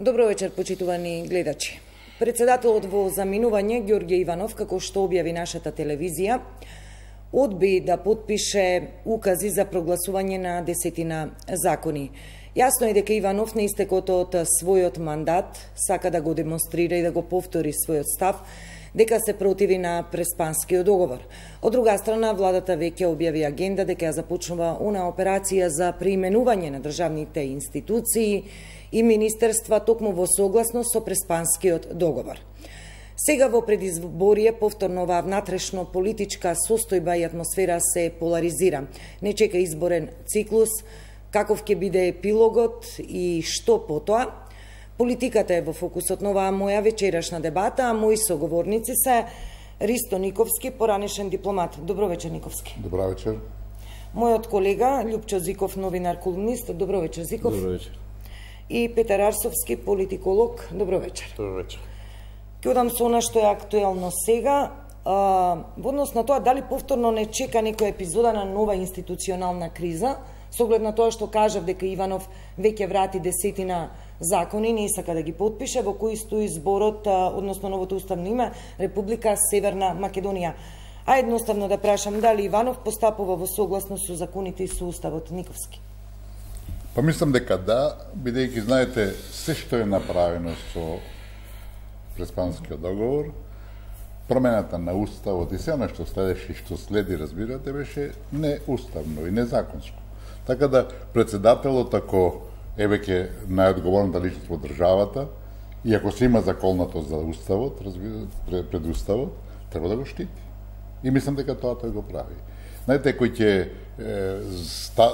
Добро вечер, почитувани гледачи. Председателот во заминување Ѓорѓе Иванов, како што објави нашата телевизија, одби да потпише укази за прогласување на 10 закони. Јасно е дека Иванов на истекот од својот мандат сака да го демонстрира и да го повтори својот став дека се противи на Преспанскиот договор. Од друга страна, владата веќе објави агенда дека ја започнува она операција за преименување на државните институции и министерства токму во согласност со Преспанскиот договор. Сега во предизборие повторно оваа внатрешно политичка состојба и атмосфера се поларизира. Не чека изборен циклус, каков ќе биде епилогот и што потоа. Политиката е во фокусот на оваа моја вечерашна дебата, а мои соговорници се Ристо Никовски, поранешен дипломат. Добро вечер, Никовски. Добро вечер. Мојот колега Љупчо Зиков, новинар, колумнист. Добро вечер, Зиков. Добро вечер. И Петар Арсовски, политиколог. Добро вечер. Добро вечер. Ќе одам со она што е актуелно сега. Во однос на тоа, дали повторно не чека некоја епизода на нова институционална криза, со оглед на тоа што кажав дека Иванов веќе врати 10 закони, не сака да ги потпише, во кои стои зборот, односно новото уставно име, Република Северна Македонија. А едноставно да прашам, дали Иванов постапува во согласност со законите и со уставот? Никовски. Па мислам дека да, бидејќи знаете се што е направено со Преспанскиот договор, промената на уставот и се она што следеше и што следи, разбирате, беше неуставно и незаконско. Така да председателот, ако е веќе најодговорната личност во државата, и ако се има заколнато за уставот, пред уставот, треба да го штити. И мислам дека тоа тој го прави. Знаете, кој ќе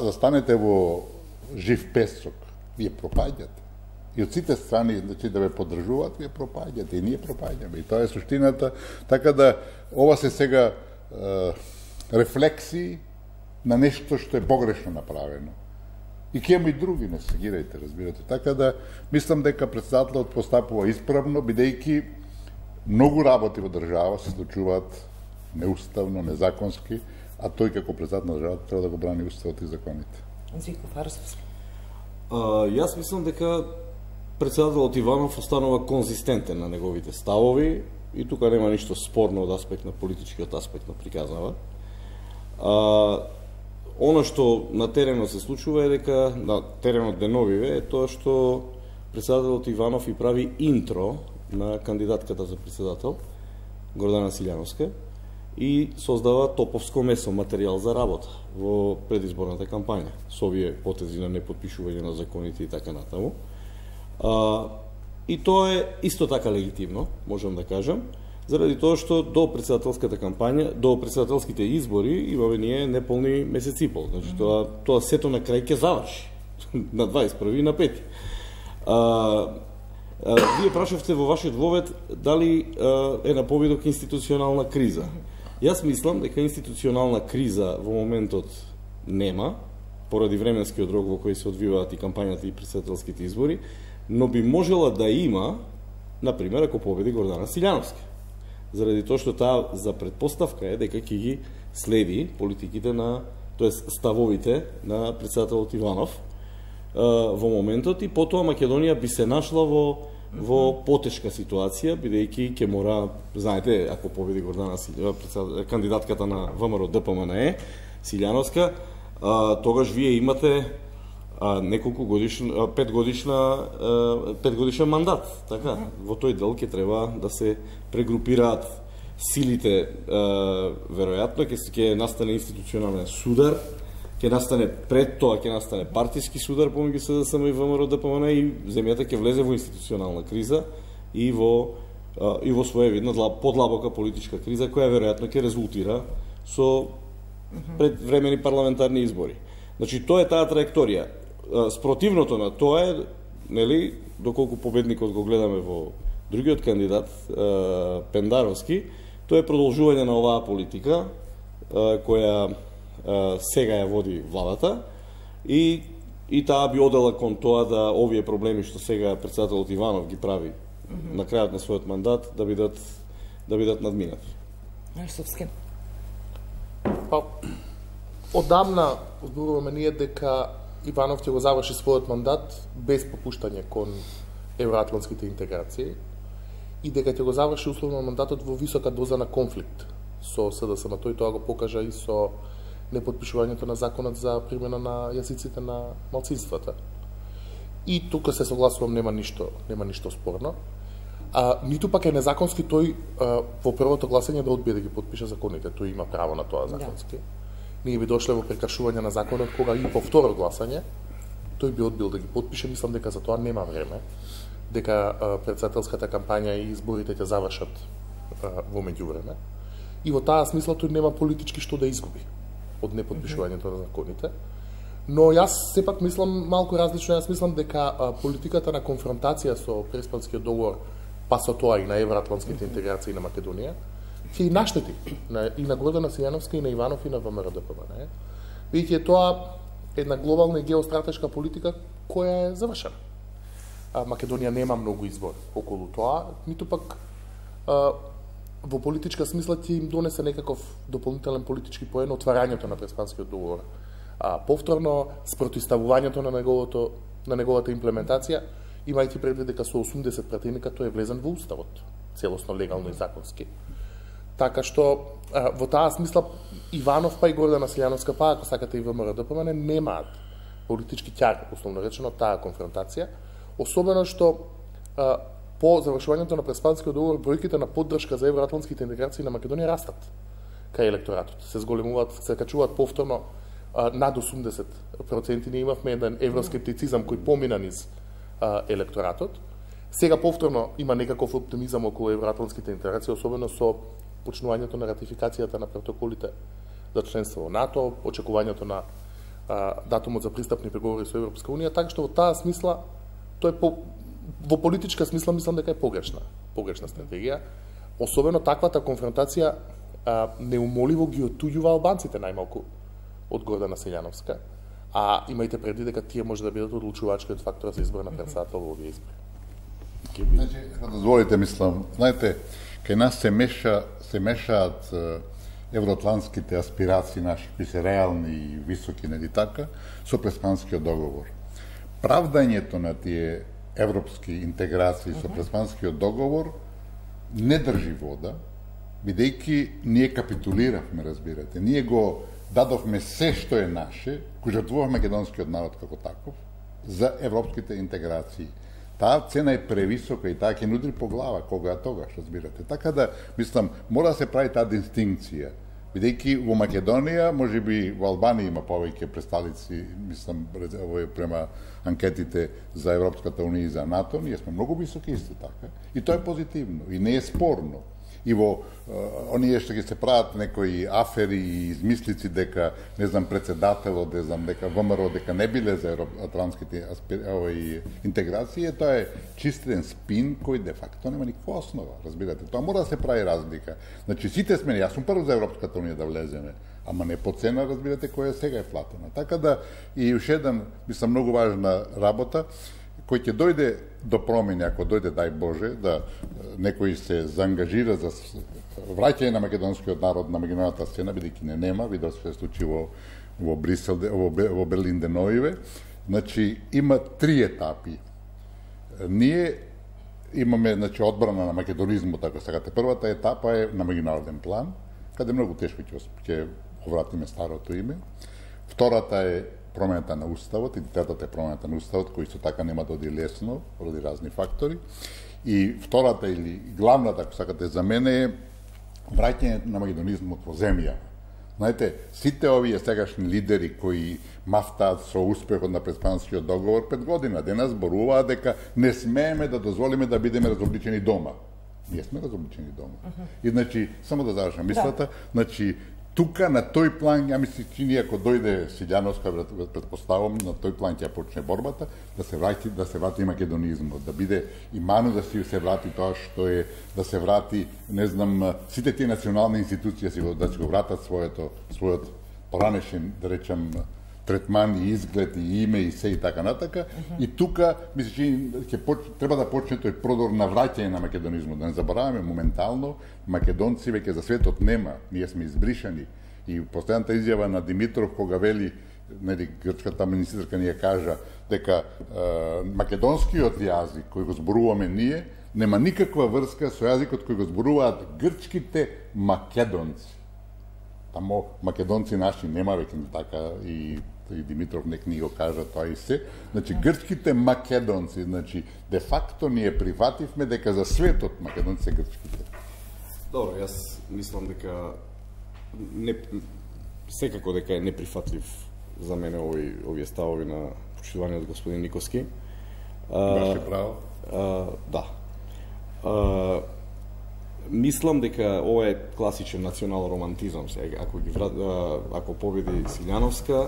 застанете во жив песок, вие пропаѓате. И од сите страни, значи, да ве поддржуваат, вие пропаѓате и ние пропаѓаме. И тоа е суштината. Така да, ова се сега рефлексии на нешто што е погрешно направено. И ќе има и други, не се гирајте, разбирате. Така да, мислам дека председателот постапува исправно, бидејќи многу работи во држава се случуваат неуставно, незаконски, а тој како председател на државата треба да го брани уставот и законите. Зиков Арсовски. Јас мислам дека председателот Иванов останува конзистентен на неговите ставови и тука нема ништо спорно од аспект на политичкиот аспект на приказнава. Оно што на теренот се случува е дека на теренот деновиве е тоа што председателот Иванов и прави интро на кандидатката за председател Гордана Силјановска и создава топовско месо материјал за работа во предизборната кампања со овие потези на непотпишување на законите и така натаму. И тоа е исто така легитимно, можам да кажам, заради тоа што до председателската кампања, до председателските избори имаме ние неполни месец и пол. Значи тоа сето на крај ќе заврши на 21 и на 5. Вие прашавте во вашиот вовед дали е на повидок институционална криза. Јас мислам дека институционална криза во моментот нема, поради временскиот рок во кој се одвиваат и кампањата и председателските избори, но би можела да има, например, ако победи Гордана Силјановска. Заради тоа што таа за предпоставка е дека ќе ги следи политиките на, тоест ставовите на председателот Иванов во моментот и потоа Македонија би се нашла во потешка ситуација, бидејќи ќе мора, знаете, ако победи Гордана Силјановска, кандидатката на ВМРО ДПМНЕ, Силјановска, тогаш вие имате неколку годишен, 5 годишен мандат, така? Во тој дел ќе треба да се прегрупираат силите, веројатно ќе настане институционален судар, ќе настане пред тоа, ќе настане партиски судар помеѓу СДСМ и ВМРО ДПМН и земјата ќе влезе во институционална криза и во своевидна подлабока политичка криза која веројатно ќе резултира со предвремени парламентарни избори. Значи тоа е таа траекторија. Спротивното на тоа е, нели, доколку победникот го гледаме во другиот кандидат, Пендаровски, тоа е продолжување на оваа политика која сега ја води владата и таа би одела кон тоа да овие проблеми што сега председателот Иванов ги прави на крајот на својот мандат да бидат надминати. Арсовски. Па, одамна зборуваме ние дека Иванов ќе го заврши својот мандат без попуштање кон евроатлантските интеграции и дека ќе го заврши условно мандатот во висока доза на конфликт со СДСМ. Тој тоа го покажа и со непотпишувањето на законот за примена на јазиците на малцинствата. И тука се согласувам, нема ништо спорно. Ниту пак е незаконски тој во првото гласање да одбие да ги подпише законите. Тој има право на тоа законски. Ние би дошле во прекршување на законот кога и по второ гласање тој би одбил да ги подпише. Мислам дека за тоа нема време, дека председателската кампања и изборите ќе завршат во меѓувреме. И во таа смисла тој нема политички што да изгуби од неподпишувањето на законите. Но јас сепак мислам малку различно. Јас мислам дека политиката на конфронтација со Преспанскиот договор, па со тоа и на евроатлантските интеграции на Македонија, ќе и наштети и на Гордана Силјановска, и на Иванов, и на ВМРО-ДПМН. Бидејќи тоа една глобална и геостратешка политика која е завршена. Македонија нема многу избор околу тоа, ниту пак во политичка смисла ќе им донесе некаков дополнителен политички поен отварањето на Преспанскиот договор. Повторно спротивставувањето на неговата имплементација, имајќи предвид дека со 80 пратеника тој е влезен во уставот, целосно легално и законски. Така што во таа смисла Иванов па и Гордана Силјановска, па ако сакате и ВМРО-ДПМН, немаат политички ќар, условно речено, таа конфронтација, особено што по завршувањето на Преспанскиот договор бројките на поддршка за евроатлантските интеграции на Македонија растат кај електоратот. Се зголемуваат, се качуваат повторно над 80%. Ние имавме еден евроскептицизам кој помина низ електоратот. Сега повторно има некаков оптимизам околу евроатлантските интеграции, особено со почнувањето на ратификацијата на протоколите за членство во НАТО, очекувањето на датумот за пристапни преговори со Европска унија, така што во таа смисла тој во политичка смисла мислам дека е погрешна стратегија. Особено таквата конфронтација неумоливо ги отуѓува албанците најмалку од Гордана Силјановска, а имајте предвид дека тие може да бидат одлучувачкиот фактор за избор на председател во овие избори. Значи, дозволите, мислам, знаете, кај нас се мешаат евроатлантските аспирации наши, кои се реални и високи, нели така, со Преспанскиот договор. Правдањето на тие европски интеграции со Преспанскиот договор не држи вода, бидејќи ние капитулиравме, разбирате. Ние го дадовме се што е наше, кој жртвува македонскиот народ како таков, за европските интеграции. Таа цена е превисока и таа ќе нудри по глава кога тогаш, разбирате. Така да, мислам, мора да се прави таа дистинкција. Бидејќи во Македонија, можеби во Албанија има повеќе представници, мислам, према анкетите за Европската унија и за НАТО, ние сме многу високи исто така. И тоа е позитивно и не е спорно. И во оние што ќе се прават некои афери и измислици дека, не знам, председателот, не знам, дека ВМРО, дека не биле за евроатлантските интеграции, тоа е чистен спин кој де факто нема никаква основа, разбирате. Тоа мора да се прави разлика. Значи, сите сме, јас сум прв за Европската унија да влеземе, ама не по цена, разбирате, која сега е платена. Така да, и уште еден, мислам, многу важна работа, кој ќе дојде до промени, ако дојде, дај Боже, да некој се заангажира за враќање на македонскиот народ на меѓународната сцена, бидејќи не нема, видов се случи во Брисел, во Берлин деновиве. Значи, има 3 етапи. Ние имаме, значи, одбрана на македонизмот, ако сакате. Првата етапа е на меѓународен план, каде многу тешко ќе повратиме старото име. Втората е промената на уставот, и третата е промената на уставот, кој со така нема да оди лесно, поради разни фактори. И втората или главната, ако сакате, за мене е враќањето на македонизмот во земја. Знаете, сите овие сегашни лидери кои мафтаат со успехот на Преспанскиот договор 5 година, денес зборуваат дека не смееме да дозволиме да бидеме разобличени дома. Ние сме разобличени дома. И значи, само да завршам мислата, значи, тука на тој план, ја мислам, че ние ако дојде Силјановска, предпоставам, на тој план ќе почне борбата, да се врати македонизмот, да биде и ману да се врати тоа што е, да се врати, не знам, сите тие национални институции да се го вратат својот поранешен, да речем, третман и изглед и име и се и така натака. И тука, мислам, че треба да почне тој продор на враќање на македонизмот. Да не забораваме, моментално македонци веќе за светот нема. Ние сме избришани. И последната изјава на Димитров кога вели нели грчката министерка ни ја кажа дека македонскиот јазик кој го зборуваме ние нема никаква врска со јазикот кој го зборуваат грчките македонци. Тамо македонци наши нема веќе така и Димитров нек ни го кажа тоа и се. Значи грчките македонци, значи де факто ние прифативме дека за светот македонци се грчките. Добро, јас мислам дека секако дека е неприфатлив за мене овие ставови на почитуваниот господин Никоски. Баше право. Да. Мислам дека ова е класичен национал романтизам. Ако победи Силјановска,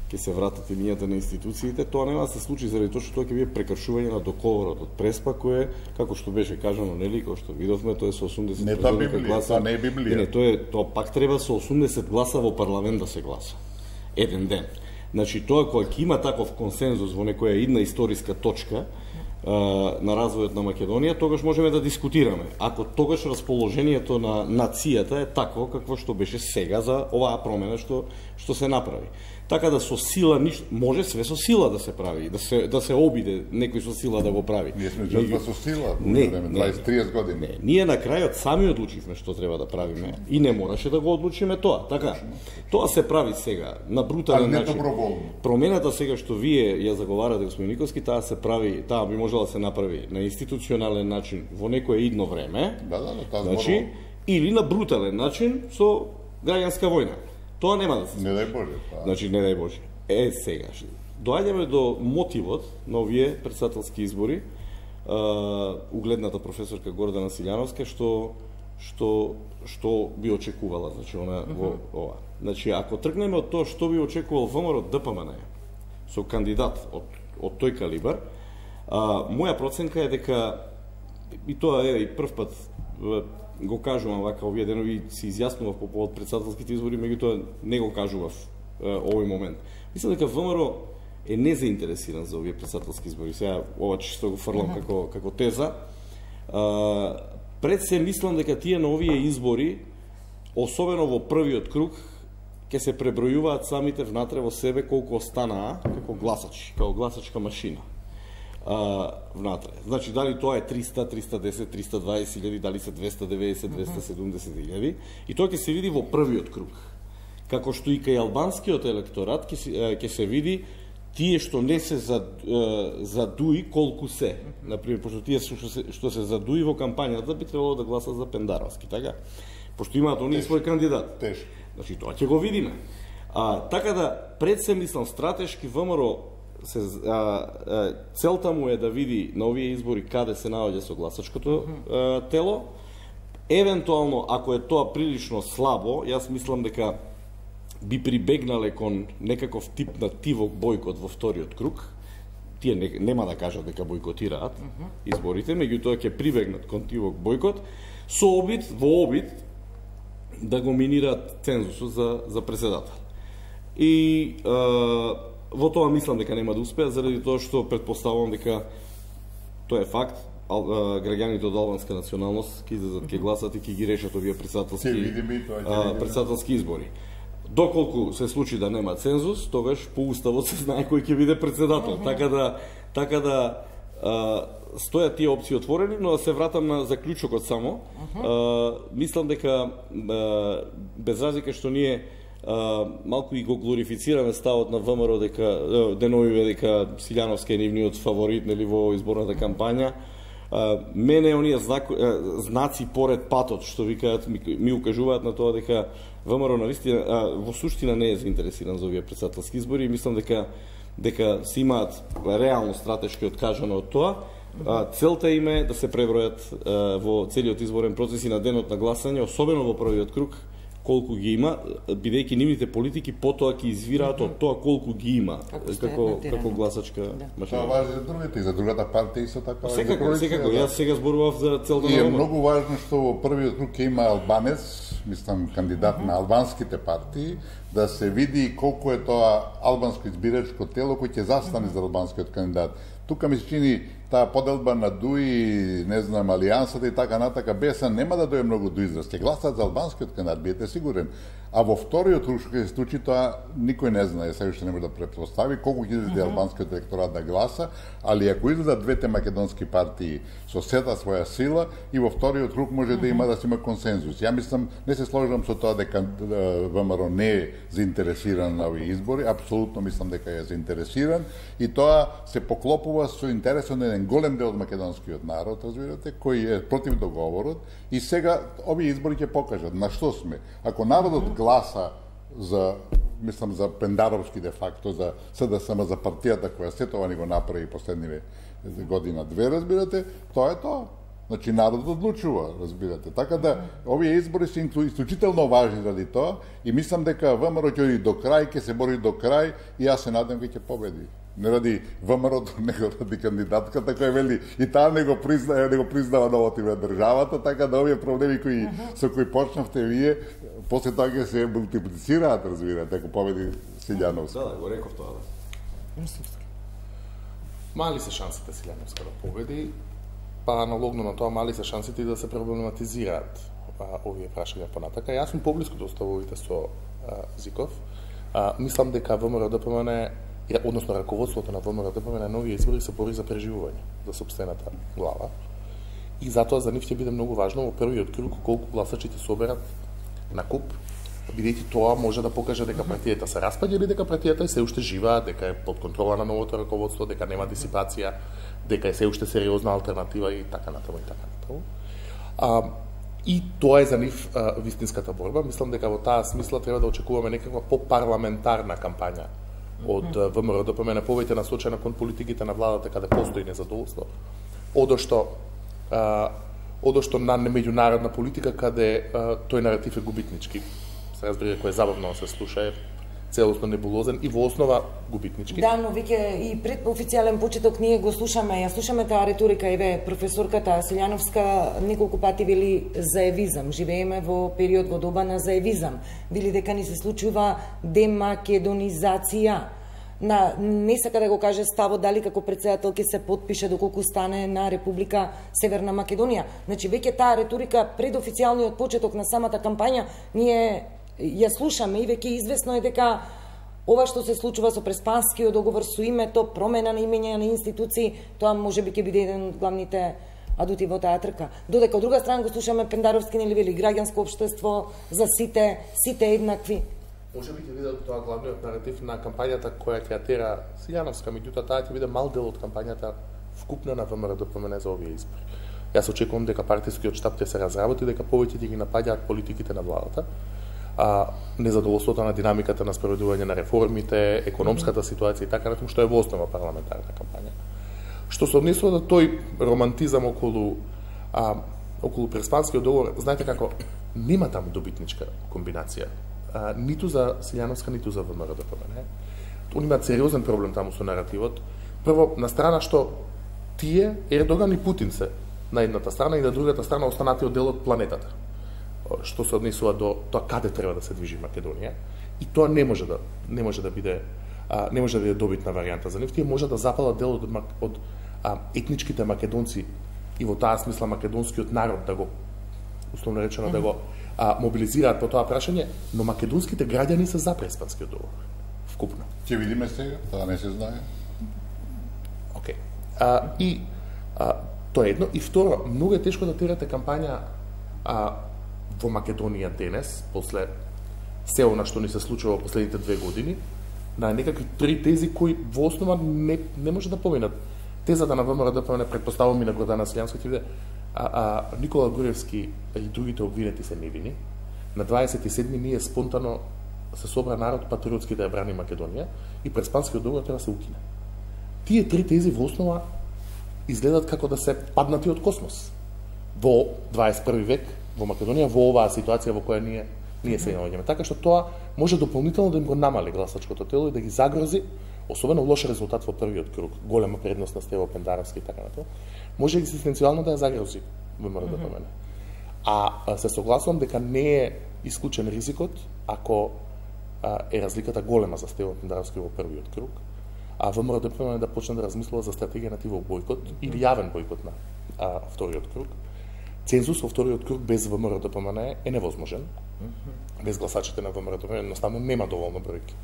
ќе се вратат имињата на институциите, тоа нема да се случи заради тоа што тоа ќе биде прекршување на договорот од Преспа, кој е, како што беше кажано, нели, како што видовме, тоа е со 80% гласа. Не е Библија. Не, тоа пак треба со 80 гласа во парламент да се гласа. Еден ден. Значи, тоа кога ќе има таков консензус во некоја една историска точка на развојот на Македонија, тогаш можеме да дискутираме. Ако тогаш расположението на нацијата е такво какво што беше сега за оваа промена што се направи. Така да со сила може све со сила да се прави, да се обиде некој со сила да го прави. Ние сме жртва со сила во време 20-30 години. Не, ние на крајот сами одлучивме што треба да правиме и не мораше да го одлучиме тоа. Така, тоа се прави сега на брутален начин. Промената сега што вие ја заговарате, господин Никоски, таа се прави, таа би можела да се направи на институционален начин во некое идно време. Значи, или на брутален начин со граѓанска војна. Тоа нема да се случи. Не дај Боже. Значи, не дај Боже. Сега, доаѓаме до мотивот на овие претседателски избори, угледната професорка Гордана Силјановска, што би очекувала, значи, она во ова. Значи, ако тргнеме од тоа што би очекувал ВМРО од ДПМН со кандидат од тој калибар, моја проценка е дека, и тоа е и прв пат го кажувам вака овие денови, се изјаснував по повод претседателските избори, меѓутоа не го кажував овој момент. Мислам дека ВМРО е незаинтересиран за овие претседателски избори. Сега ова чисто го фрлам како теза. Пред се мислам дека тие на овие избори, особено во првиот круг, ќе се пребројуваат самите внатре во себе колку останаа како гласачи, како гласачка машина. Внатре. Значи, дали тоа е 300, 310, 320 илјади, дали се 290, 270 илјади, и тоа ќе се види во првиот круг. Како што и кај албанскиот електорат ќе се види тие што не се задуи колку се. Например, пошто тие што се задуи во кампањата би требало да гласат за Пендаровски, така? Пошто имаат оние свој кандидат. Тешко. Значи, тоа ќе го видиме. Така да, пред се мислам стратешки ВМРО целта му е да види на овие избори каде се наоѓа со гласачкото тело. Евентуално, ако е тоа прилично слабо, јас мислам дека би прибегнале кон некаков тип на тивок бојкот во вториот круг. Тие нема да кажат дека бојкотираат изборите, меѓутоа ќе прибегнат кон тивок бојкот со во обид да го минираат цензусот за председател. И во тоа мислам дека нема да успеат, заради тоа што претпоставувам дека тоа е факт, граѓаните од албанска националност ќе излезат, ќе гласат и ќе ги решат овие претседателски избори. Доколку се случи да нема цензус, тогаш по уставот се знае кој ќе биде председател. Така да стојат тие опции отворени, но да се вратам на заклучокот само. Мислам дека без разлика што ние малку и го глорифицираме ставот на ВМРО дека деновиве дека Силјановска е нивниот фаворит, нели, во изборната кампања. Мене оние знаци поред патот што викаат ми укажуваат на тоа дека ВМРО навистина во суштина не е заинтересиран за овие претседателски избори и мислам дека се имаат реално стратешки откажано од тоа. Целта им е да се пребројат во целиот изборен процес и на денот на гласање, особено во првиот круг, колку ги има, бидејќи нивните политики потоа ќе извираат од тоа колку ги има како гласачка машина. Тоа важи за другите и за другата партија исто така. Секако, јас сега зборував за целта на ВМРО. И е многу важно што во првиот круг ќе има албанец, мислам кандидат на албанските партии, да се види колку е тоа албанско избирачко тело кој ќе застане за албанскиот кандидат. Тука ми се чини таа поделба на ДУИ, не знам, алијансата и така натака, БСА нема да дојде многу до израз. Ќе гласат за албанскиот кандидат, бидете сигурен. А во вториот круг што ќе се случи, тоа никој не знае, сега уште не може да претпостави колку ќе излезе албанскиот електорат да гласа, али ако излезат двете македонски партии со сета своја сила, и во вториот круг може да има се има консензус. Ја мислам, не се сложам со тоа дека ВМРО не е заинтересиран на овие избори, апсолутно мислам дека е заинтересиран и тоа се поклопува со интересот на еден голем дел од македонскиот народ, разбирате, кој е против договорот и сега овие избори ќе покажат на што сме. Ако народот гласа за, мислам, за Пендаровски де факто, за СДСМ, за партијата која се тоа ни го направи последниве година-две, разбирате, тоа е тоа. Значи, народот одлучува, разбирате. Така да, овие избори се исклучително важни заради тоа и мислам дека ВМРО ќе оди до крај, ќе се бори до крај и јас се надам дека ќе победи. Не ради ВМРО-то, него ради кандидатката која вели и таа не го признава новото име државата, така да овие проблеми кои со кои почнавте вие, после тоа ќе се мултиплицираат, разбирате, ако победи Силјановска. Да, го реков тоа, да. Мали се шансите Силјановска да победи, па аналогно на тоа мали се шансите и да се проблематизираат овие прашања понатака. Јас сум поблиску до ставовите со Зиков. Мислам дека ВМРО-ДПМН, односно раководството на ВМРО-ДПМН на нови избори се бори за преживување за сопствената глава. И затоа за нив ќе биде многу важно во првиот круг колку гласачи ќе соберат на куп, бидејќи тоа може да покаже дека партијата се распаѓа или дека партијата се уште жива, дека е под контрола на новото раководство, дека нема дисипација, дека е се уште сериозна алтернатива и така натаму и така натаму. И тоа е за нив вистинската борба. Мислам дека во таа смисла треба да очекуваме некаква попарламентарна кампања од ВМРО-ДПМН, повеќе насочена кон политиките на владата каде постои незадоволство, одошто на меѓународна политика каде тој наратив е губитнички. Се разбира кој е забавно да се слуша, е целосно небулозен и во основа губитнички. Да, но веќе и пред официјален почеток ние го слушаме, ја слушаме таа риторика, еве професорката Силјановска неколку пати вели заевизам, живееме во период во доба на заевизам, вели дека ни се случува демакедонизација. Не сака да го каже ставот дали како претседател ќе се потпише доколку стане на Република Северна Македонија. Значи веќе таа риторика пред официјалниот почеток на самата кампања ние ја слушаме и веќе известно е дека ова што се случува со Преспанскиот договор, со името, промена на имења на институции, тоа можеби ќе биде еден од главните адути во таа трка. Додека од друга страна го слушаме Пендаровски нели вели граѓанско општество за сите еднакви. Можеби ќе биде тоа главниот наратив на кампањата која ќе тера Силјановска, меѓутоа таа ќе биде мал дел од кампањата вкупна на ВМРО-ДПМН за овие избори. Јас очекувам дека партискиот штаб ќе се разработи, дека повеќе ќе ги напаѓаат политиките на владата, незадоволството на динамиката на спроведување на реформите, економската ситуација и така натаму, што е во основа парламентарна кампања. Што се однесува до тој романтизам околу Преспанскиот договор, знаете како, нема таму добитничка комбинација. Ниту за Силјановска, ниту за ВМРО-ДПМН. Они имаат сериозен проблем таму со наративот. Прво, на страна што тие, Ердоган и Путин се на едната страна и на другата страна останати од дел од планетата. Што се однесува до тоа каде треба да се движи Македонија, и тоа не може да биде добитна варијанта за нив. Тие може да запалат дел од етничките македонци и во таа смисла македонскиот народ да го условно речено да го мобилизираат по тоа прашање, но македонските граѓани се за Преспанскиот договор. Вкупно. Ќе видиме сега, тоа не се знае. Океј. Тоа е едно. И второ, многу е тешко да терате кампања во Македонија денес, после се она што ни се случува во последните 2 години, на некакви 3 тези кои во основа не може да поминат. Тезата на ВМРО-ДПМН, предпоставувам и на Гордана Силјановска, ќе биде Никола Груевски и другите обвинети се невини. На 27 ние спонтано се собра народ патриотски да ја брани Македонија и Преспанскиот договор треба да се укине. Тие 3 тези во основа изгледат како да се паднати од космос. Во 21 век во Македонија, во оваа ситуација во која ние се наоѓаме. Така што тоа може дополнително да им го намали гласачкото тело и да ги загрози, особено лош резултат во првиот круг, голема предност на Стево Пендаровски и така натаму, може екзистенцијално да ја загрози ВМРО-ДПМН. Се согласувам дека не е исклучен ризикот ако е разликата голема за Стево Пендаровски во првиот круг, а ВМРО-ДПМН да почне да размислува за стратегија на тивол бојкот или јавен бојкот на вториот круг. Цензус во вториот круг без ВМРО-ДПМН е невозможен. Без гласачите на ВМРО-ДПМН едноставно нема доволно бројки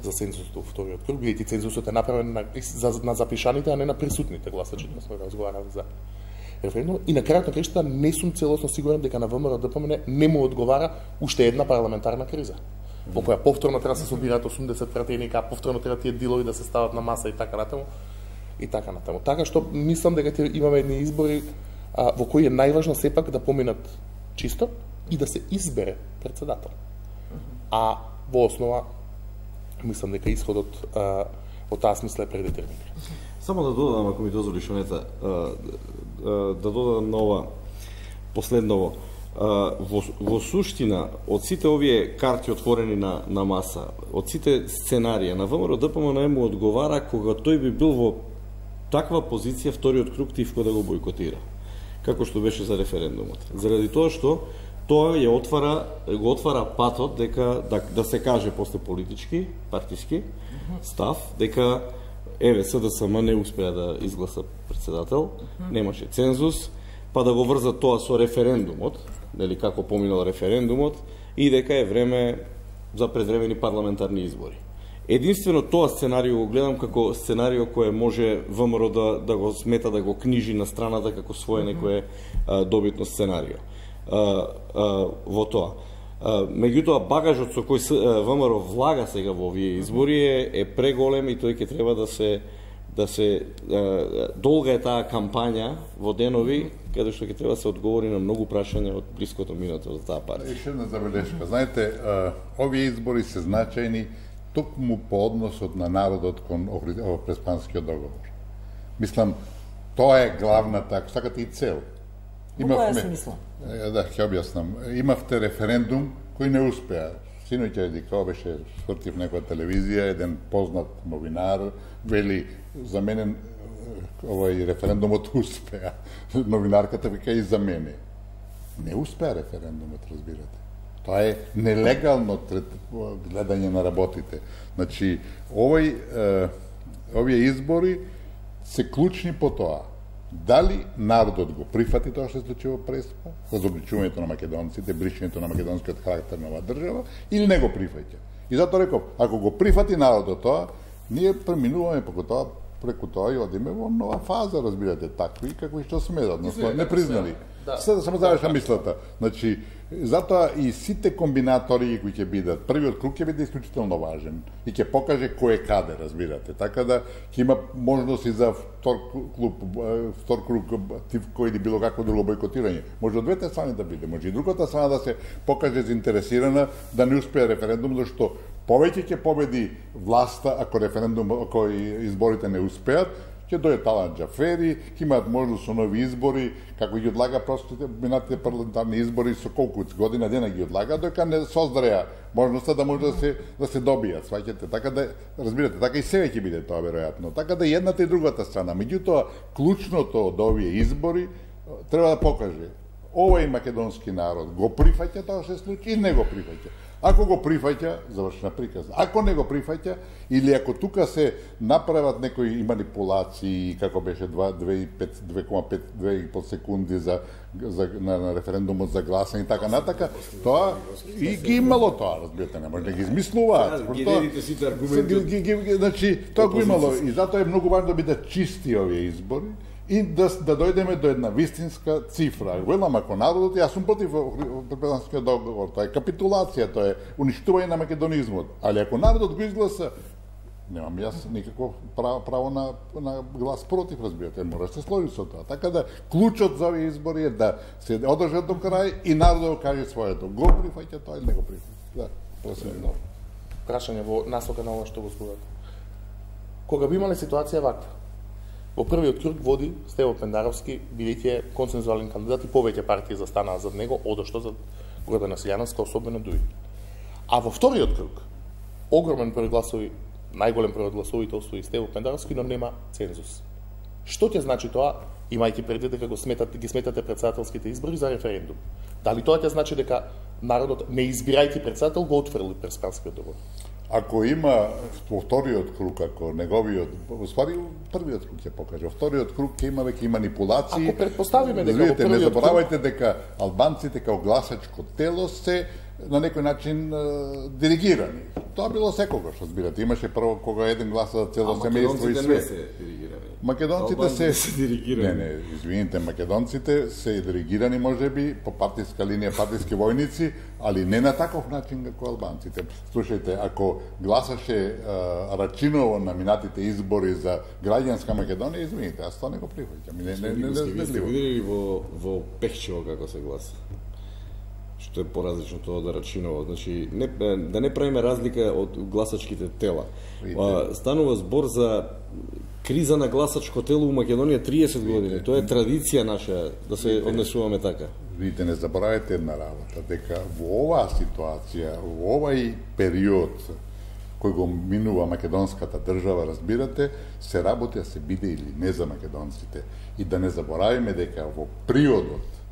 за цензусот во вториот круг, бидејќи цензусот е направен на запишаните, а не на присутните гласачи, да сме разговарали за референдум. И на крајот на крајштата не сум целосно сигурен дека на ВМРО-ДПМН не му одговара уште една парламентарна криза, во која повторно треба да се собираат 80 пратеника, повторно треба тие дилови да се стават на маса и така натаму. И така натаму. Така што мислам дека ќе имаме едни избори во кои е најважно сепак да поминат чисто и да се избере председател. А во основа мислам дека исходот во таа смисла е предетерминиран. Само да додадам, ако ми дозволиш, Онета, да додадам на ова последново. Во суштина, од сите овие карти отворени на маса, од сите сценарија, на ВМРО-ДПМН му одговара кога тој би бил во таква позиција вториот круг Тивко да го бойкотира, како што беше за референдумот. Заради тоа што тоа го отвара патот дека да се каже после политички, партиски став, дека СДСМ не успеа да изгласа председател, немаше цензус, па да го врзат тоа со референдумот, нели како поминал референдумот, и дека е време за предвремени парламентарни избори. Единствено тоа сценарио го гледам како сценарио кое може ВМРО да го смета, да го книжи на страната како свое некое добитно сценарио во тоа. Меѓутоа, багажот со кој ВМРО влага сега во овие избори е преголем и тој ќе треба да се долга е таа кампања во денови, каде што ќе треба да се одговори на многу прашања од блиското минато за таа партија. Еше една забелешка. Знаете, овие избори се значајни токму по односот на народот кон Преспанскиот договор. Мислам, тоа е главната, ако сакате, и цел. Имавме, смисла. Да, ќе објаснам. Имавте референдум кој не успеа. Синоќа Дикао беше свртив некоја телевизија, еден познат новинар, вели, за мене овој референдумот успеа. Новинарката вика и за мене. Не успеа референдумот, разбирате. Тоа е нелегално гледање на работите. Значи, овие избори се клучни по тоа. Дали народот го прифати тоа што се случи во Преспа, разобличувањето на македонците, бришењето на македонскиот карактер на оваа држава, или не го прифаќа. И затоа реков, ако го прифати народот тоа, ние преминуваме преку тоа и одиме во нова фаза, разбирате, такви како и што сме, односно не признали. Само завршам мислата. Значи, затоа и сите комбинатори кои ќе бидат, првиот круг ќе биде исклучително важен и ќе покаже кој е каде, разбирате. Така да ќе има можност и за втор круг Тивко или било какво друго бойкотирање. Може од двете страни да биде, може и другата страна да се покаже заинтересирана да не успее референдум, зашто повеќе ќе победи власта ако изборите не успеат, ќе дојде Талан Џафери, ќе имаат можност со нови избори, како ги одлага простите минатите парламентарни избори со колку година дена ги одлага, дека не создареа можноста да може да се добијат, сваќате. Така да разбирате, така и себе ќе биде тоа веројатно. Така да едната и другата страна. Меѓутоа, клучното од овие избори треба да покаже овој македонски народ го прифаќа тоа што се случи и не го прифаќа. Ако го прифаќа, завршена приказна. Ако не го прифаќа, или ако тука се направат некои манипулации, како беше 2,5 секунди на референдумот за гласање и така натака, тоа и ги имало тоа, разбирате, не може да ги измислуваат. Ги дадите сите аргументи. Значи, тоа го имало и затоа е многу важно да бидат чисти овие избори и да дојдеме до една вистинска цифра. Велам, ако народот, јас сум против Преспанскиот договор, тоа е капитулација, тоа е уништување на македонизмот. Али ако народот го изгласа, немам јас никакво право на глас против, разбирате, мора да се сложи со тоа. Така да, клучот за овие избори е да се одржат до крај и народот да каже своето. Го прифаќа тоа или не го прифаќа. Да, просим. Прашање во насока на ова што го зборувате. Кога би имале ситуација ваква, во првиот круг води Стево Пендаровски, бидејќи е консензуален кандидат и повеќе партии застанаа зад него, одошто за Гордана Силјановска, особено дуи. А во вториот круг, огромен број гласови, најголем број гласовите и Стево Пендаровски, но нема цензус. Што ќе значи тоа, имајќи предвид дека ги сметате председателските избори за референдум? Дали тоа ќе значи дека народот, не избирајќи председател, го отфрли Преспанскиот договор. Ако има во вториот круг, ако неговиот, уствари првиот круг ќе покаже, во вториот круг ќе има веќе манипулации. Ако предпоставиме дека видите, во не првиот заборавајте дека албанците као гласачко тело се на некој начин диригирани. Тоа било секогаш, разбирате. Имаше прво кога еден гласа за цело семејство и све. Не се диригирани. Македонците се диригирани. Не, извините, македонците се диригирани можеби по партиска линија, партиски војници, али не на таков начин како албанците. Слушајте, ако гласаше Рачиново на минатите избори за граѓанска Македонија, извините, аз тоа не го прифаќам. Не сте видели во Пехчево како се гласа? Што е поразлично тоа од Рачиново. Значи, да не правиме разлика од гласачките тела. Станува збор за криза на гласачко тело у Македонија 30 години. Тоа е традиција наша да се однесуваме така. Видите, не заборавајте една работа, дека во оваа ситуација, во овај период кој го минува македонската држава, разбирате, се работи да се биде или не за македонците. И да не заборавиме дека во приодот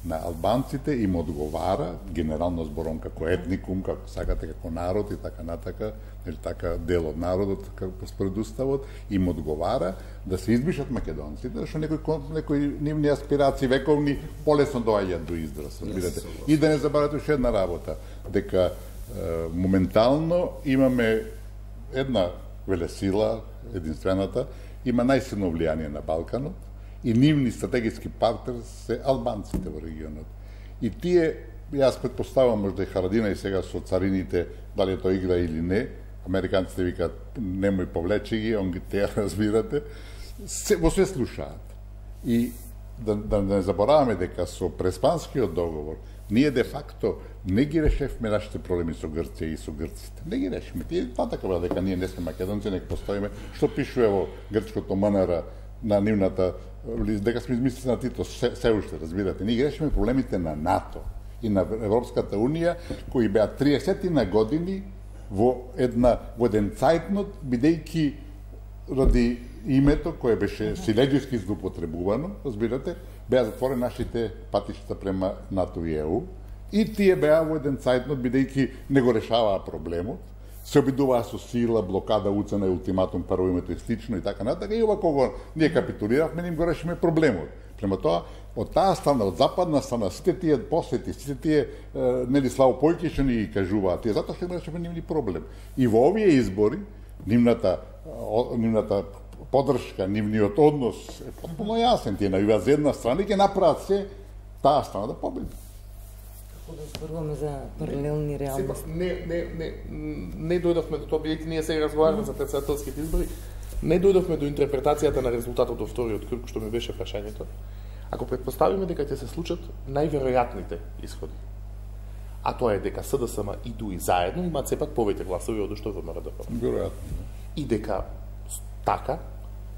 на албанците им одговара, генерално збором како етникум, како сакате како народ и така натака, или така дел од народот како според уставот, им одговара да се избишат македонците, зашто некои нивни аспирации вековни полесно доаѓаат до израз, разбирате. И да не забравате уште една работа, дека моментално имаме една велесила, единствената, има најсилно влијание на Балканот, и нивни стратегиски партнери се албанците во регионот. И тие, јас предпоставам можда и Харадина и сега со царините, дали тоа игра или не, американците викаат немој повлечи ги, он ги теа, разбирате, во све слушаат. И да не забораваме дека со Преспанскиот договор ние де факто не ги решевме нашите проблеми со Грција и со грците. Не ги решиме. Тие така била дека ние не сме македонци, нека постоиме, што пишува во грчкото МНР на нивната, дека сме измислили на Тито, се уште, разбирате. Ние решиме проблемите на НАТО и на Европската Унија, кои беа 30 години во еден цајтнот, бидејќи ради името кое беше силеџиски злоупотребувано, разбирате, беа затворени нашите патишта према НАТО и ЕУ, и тие беа во еден цајтнот, бидејќи не го решаваа проблемот, се обидуваа со сила, блокада, уцена и ултиматум, прво името и слично и така натака, и ова кога ние капитулиравме, им го решиме проблемот. Према тоа, од таа страна, од западна страна, сите тие посети, сите тие, нели Славо Појки што ни ги кажуваат, тие затоа што им решиме нивни проблем. И во овие избори, нивната поддршка, нивниот однос е потpuno јасен. Тие навиваат за една страна и ќе направат се таа страна да победи. Како да зборуваме за паралелни реалности? Не дојдовме до тоа, бидејќи ние сега разговараме за председателските избори, не дојдовме до интерпретацијата на резултатот во вториот круг, што ми беше прашањето. Ако предпоставиме дека ќе се случат најверојатните исходи, а тоа е дека СДСМ и ДУИ заедно имаат сепак повеќе гласови од што ВМРО ДПМ. Веројатно. И дека така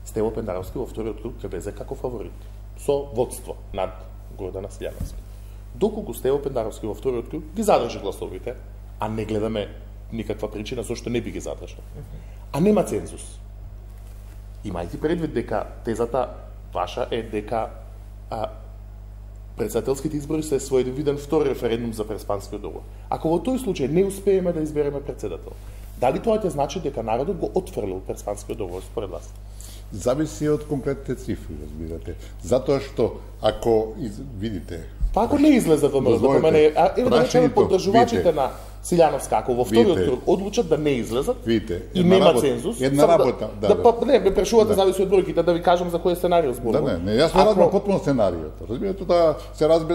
Стево Пендаровски во вториот круг ќе влезе како фаворит, со водство над Гордана Силјановски. Доколку Стево Пендаровски во вториот круг ги задржи гласовите, а не гледаме никаква причина зашто не би ги задржал, а нема цензус. Имајќи предвид дека тезата ваша е дека председателските избори се своевиден втори референдум за Преспанскиот договор. Ако во тој случај не успееме да избереме председател, дали тоа ќе значи дека народот го отфрлил Преспанскиот договор според вас? Зависи од конкретните цифри, разбирате. Затоа што ако видите, Па ако не излезе ВМРО ДПМ, еве да речеме поддржувачите на Силјановска, ако во вториот круг одлучат да не излезат и нема цензус, една работа, не ме прашувате зависи од бројките, да ви кажам за кој сценарио зборувам. Не, јас не разбирам потпуно сценариото. Разбирате, тоа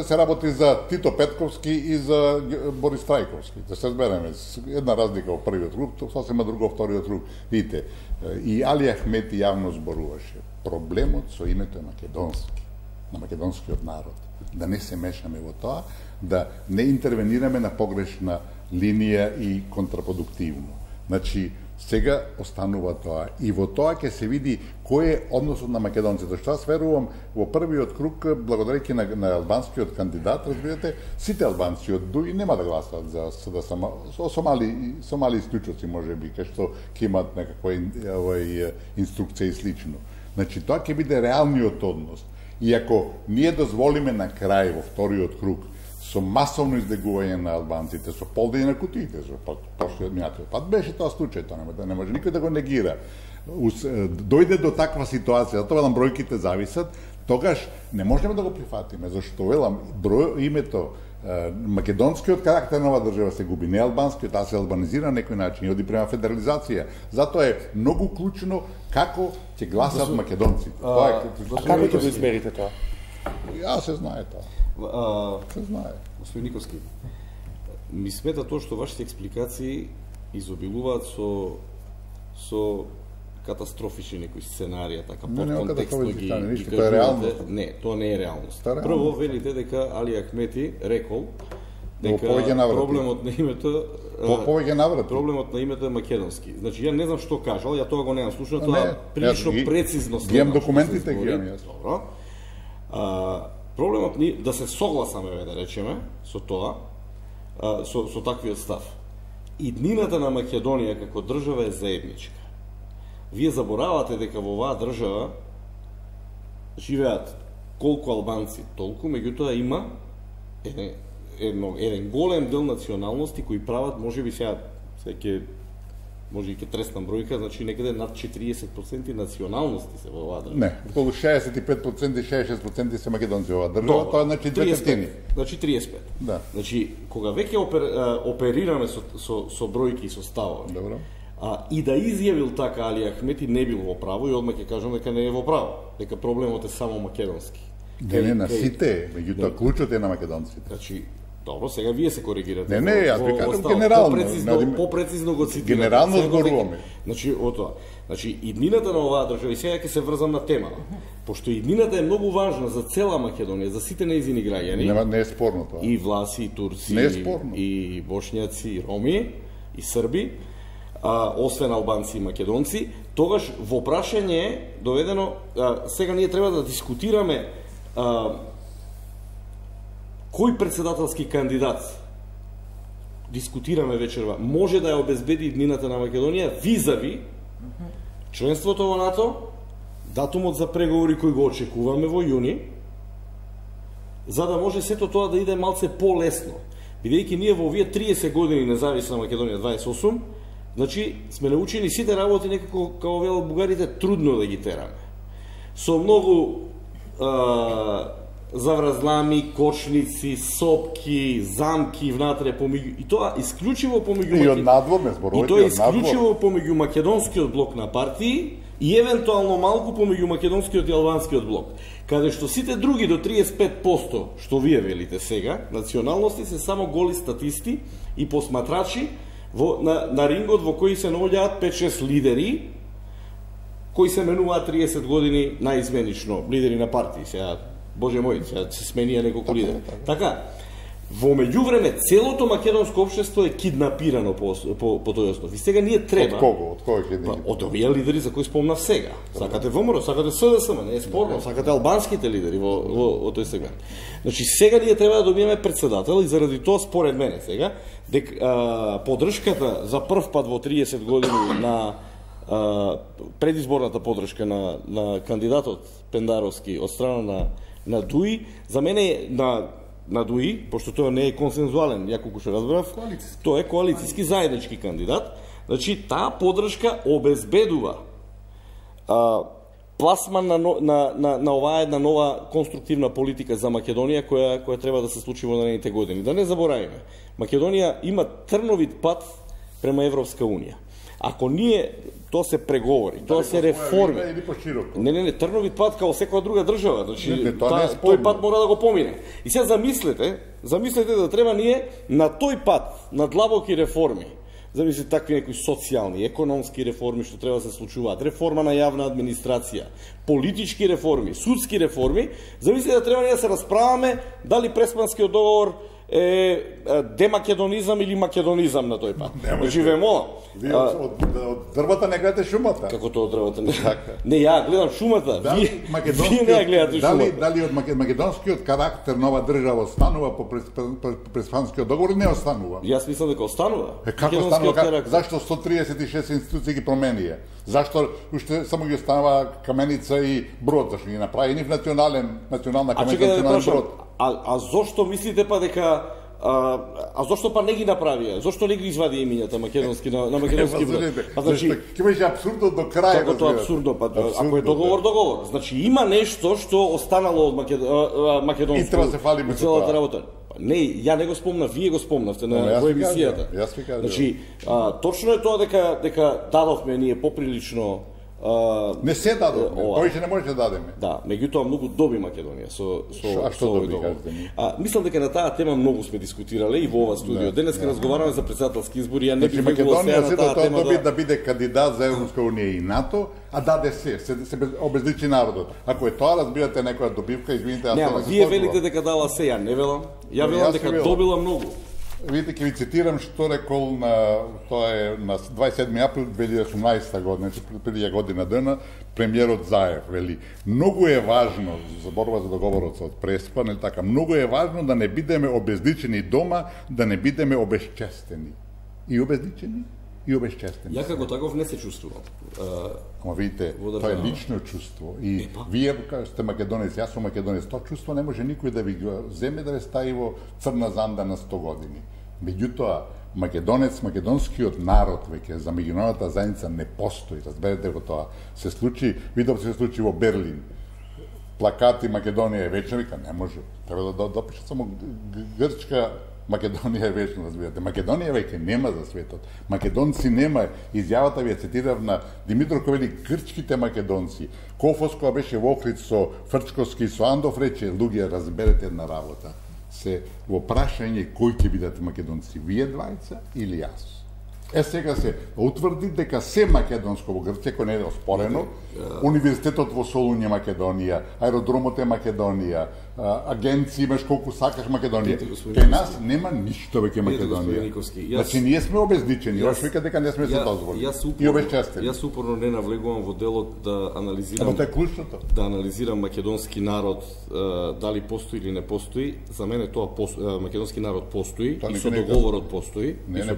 се работи за Тито Петковски и за Борис Трајковски. Да се разбереме, една разлика во првиот круг, сосема друго во вториот круг. Видите, и Али Ахмети јавно зборуваше. Проблемот со името е македонски, на македонскиот народ. Да не се мешаме во тоа, да не интервенираме на погрешна линија и контрапродуктивно. Значи, сега останува тоа. И во тоа ќе се види кој е односот на македонците. Што аз верувам, во првиот круг, благодарејќи на албанскиот кандидат, разбирате, сите албанци од ДУИ нема да гласат за СДСМ, со мали исклучоци, можеби, кај што ќе имат некаква инструкција и слично. Значи, тоа ќе биде реалниот однос. И ако ние дозволиме на крај во вториот круг со масовно издегување на албанците, со полдење на кутиите, со прошлиот минатиот пат беше тоа случај, тоа не може никој да го негира. Дојде до таква ситуација, затоа велам бројките зависат, тогаш не можеме да го прифатиме, зашто велам името македонскиот карактер на оваа држава се губи, не албанскиот, таа се албанизира на некој начин и оди према федерализација. Затоа е многу клучно како ќе гласат македонците. Како ќе го измерите тоа? Ја се знае тоа. Се знае. Господин Никовски, ми смета тоа што вашите експликации изобилуваат со катастрофични некои сценарија, така подконтекстно ги тоа е реалност. Не, тоа не е реалност. Прво велите дека Али Ахмети рекол дека проблемот на името проблемот на името е македонски. Значи ја не знам што кажал, ја тоа го немам слушано, тоа прилично прецизно ги имам документите, ги имам јас. Добро. Проблемот ни да се согласаме, да речеме, со тоа, со таквиот став. Иднината на Македонија како држава е заедничка. Вие заборавате дека во оваа држава живеат колку албанци, толку, меѓутоа има еден голем дел националности кои прават, можеби сега може и ке треснам бројка, значи некаде над 40% националности се во оваа држава. Не, околу 65% и 66% се македонци во оваа држава, тоа значи 2/3. Значи 35. Да. Значи кога веќе оперираме со бројки и со ставови. Добро. И да изјавил така Али Ахмети не бил во право и одма ќе кажам дека не е во право, дека проблемот е само македонски. Не на сите, меѓутоа клучот е на македонците. Значи, добро, сега вие се коригирате. Не, јас ви кажам генерално. Попрецизно го цитирате. Генерално зборуваме. Значи, тоа. Значи, иднината на оваа држава, и сега ќе се врзам на тема, пошто иднината е многу важна за цела Македонија, за сите нејзини граѓани. Не е спорно тоа. И власи, и турци, и бошњаци, и роми, и срби, освен албанци и македонци, тогаш во прашање е доведено, сега ние треба да дискутираме кој председателски кандидат дискутираме вечерва може да ја обезбеди иднината на Македонија визави членството во НАТО, датумот за преговори кој го очекуваме во јуни, за да може сето тоа да иде малце полесно. Бидејќи ние во овие 30 години независна Македонија 28, значи сме научени сите работи некако, како велат бугарите, трудно да ги тераме. Со многу завразлами, кочници, сопки, замки внатре помеѓу, и тоа исклучиво помеѓу и од надвор не зборувате, и тоа исклучиво помеѓу македонскиот блок на партии и евентуално малку помеѓу македонскиот и албанскиот блок, каде што сите други до 35% што вие велите сега, националности се само голи статисти и посматрачи на рингот во кој се наоѓаат 5-6 лидери кои се менуваат 30 години наизменично, лидери на партии. Сега, Боже мој, сега се сменија неколку лидери. Така, во меѓувреме целото македонско општество е киднапирано по тој основ. И сега ние треба... Од кого? Од кого е од овие лидери за кои спомнав сега. Сакате ВМРО, сакате СДСМ, не е спорно, сакате албанските лидери во тој сегмент. Значи сега ние треба да добиеме председател и заради тоа според мене сега поддршката за прв пат во 30 години на предизборната поддршка на кандидатот Пендаровски од страна на ДУИ, за мене на ДУИ, пошто тоа не е консензуален, ја колку што разбрав, тоа е коалициски заеднички кандидат, значи таа поддршка обезбедува пласман на оваа една нова конструктивна политика за Македонија која треба да се случи во наредните години. Да не заборавиме, Македонија има трновит пат према Европска Унија. Ако ние, тоа се преговори, тоа се реформи. Не, трновит пат као секоја друга држава, значи тој пат мора да го помине. И сега замислете да треба ние на тој пат, на длабоки реформи, замислите такви некои социјални, економски реформи што треба да се случуваат, реформа на јавна администрација, политички реформи, судски реформи, замислите да треба ние да се расправаме дали Преспанскиот договор е демакедонизам или македонизам на тој пат. Значи ве молам. Вие од дрвата не гледате шумата. Како тоа од дрвата не? Не, ја гледам шумата. Вие не ја гледате шумата. Дали од македонскиот карактер нова држава останува по Преспанскиот договор или не останува? Јас мислам дека останува. Како останува? Зашто 136 институции ги променија? Зашто уште само ги останува Каменица и Брод, зашто ги направи нив национална каменица, национален Брод? А зошто мислите па дека а зошто па не ги направија? Зошто не ги извади имињата македонски на македонски брод? Па значи, ќе беше апсурдно до крај. Како тоа апсурдно, па ако е договор. Значи има нешто што останало од македонско. И треба се фалиме за целата работа. Не, ја не го спомнав, вие го спомнавте на во емисијата. Јас ви кажам. Значи, точно е тоа дека дадовме ние поприлично не се дадовме, повеќе не може да дадеме. Да, меѓутоа многу доби Македонија со што доби, кажете ми? Мислам дека на таа тема многу сме дискутирале и во ова студио. Денеска разговараме за председателски избори, ја не бих Македонија се на таа тема да биде кандидат за Европска унија и НАТО, а даде се обезличи народот. Ако е тоа, разбирате, некоја добивка, извините, не, вие велите дека дала се, ја не велам. Ја велам дека добила многу. Видите, ќе ви цитирам што рекол тоа е на 27 април 2018 година, преди година дена, премиерот Заев вели: многу е важно, за борба за договорот од Преспа, нели така, многу е важно да не бидеме обезличени дома, да не бидеме обезчестени. И обезличени, и обезчестени. Ја како таков не се чувствувам. Ама видите, тоа е лично чувство. И вие сте македонец, јас сум македонец, тоа чувство не може никој да ви го земе да ве стави во црна занда на 100 години. Меѓутоа, македонец, македонскиот народ веќе за меѓународната заедница не постои, разберете го тоа. Се случи, видов се случи во Берлин. Плакати Македонија е вечна, вика, не може. Треба да допишат само Грчка, Македонија е вечна, разбирате. Македонија веќе нема за светот. Македонци нема. Изјавата ви ја цитирав на Димитро кој вели грчките македонци. Кофос која беше во Охрид со Фрчковски и со Андов рече: луѓе, разберете една работа. Се во прашање кој ќе бидат македонци, вие двајца или јас? Сега се утврди дека се македонско во Грција, кој не е оспорено, универзитетот во Солун е Македонија, аеродромот е Македонија, агенции имаш колку сакаш Македонија. Кај нас нема ништо веќе Македонија. Значи ние сме обезличени, јас вика дека не сме се дозволили. И обезчестени. Јас упорно не навлегувам во делот да анализирам. Тоа е клучното. Да анализирам македонски народ дали постои или не постои. За мене тоа македонски народ постои и со договорот постои. Не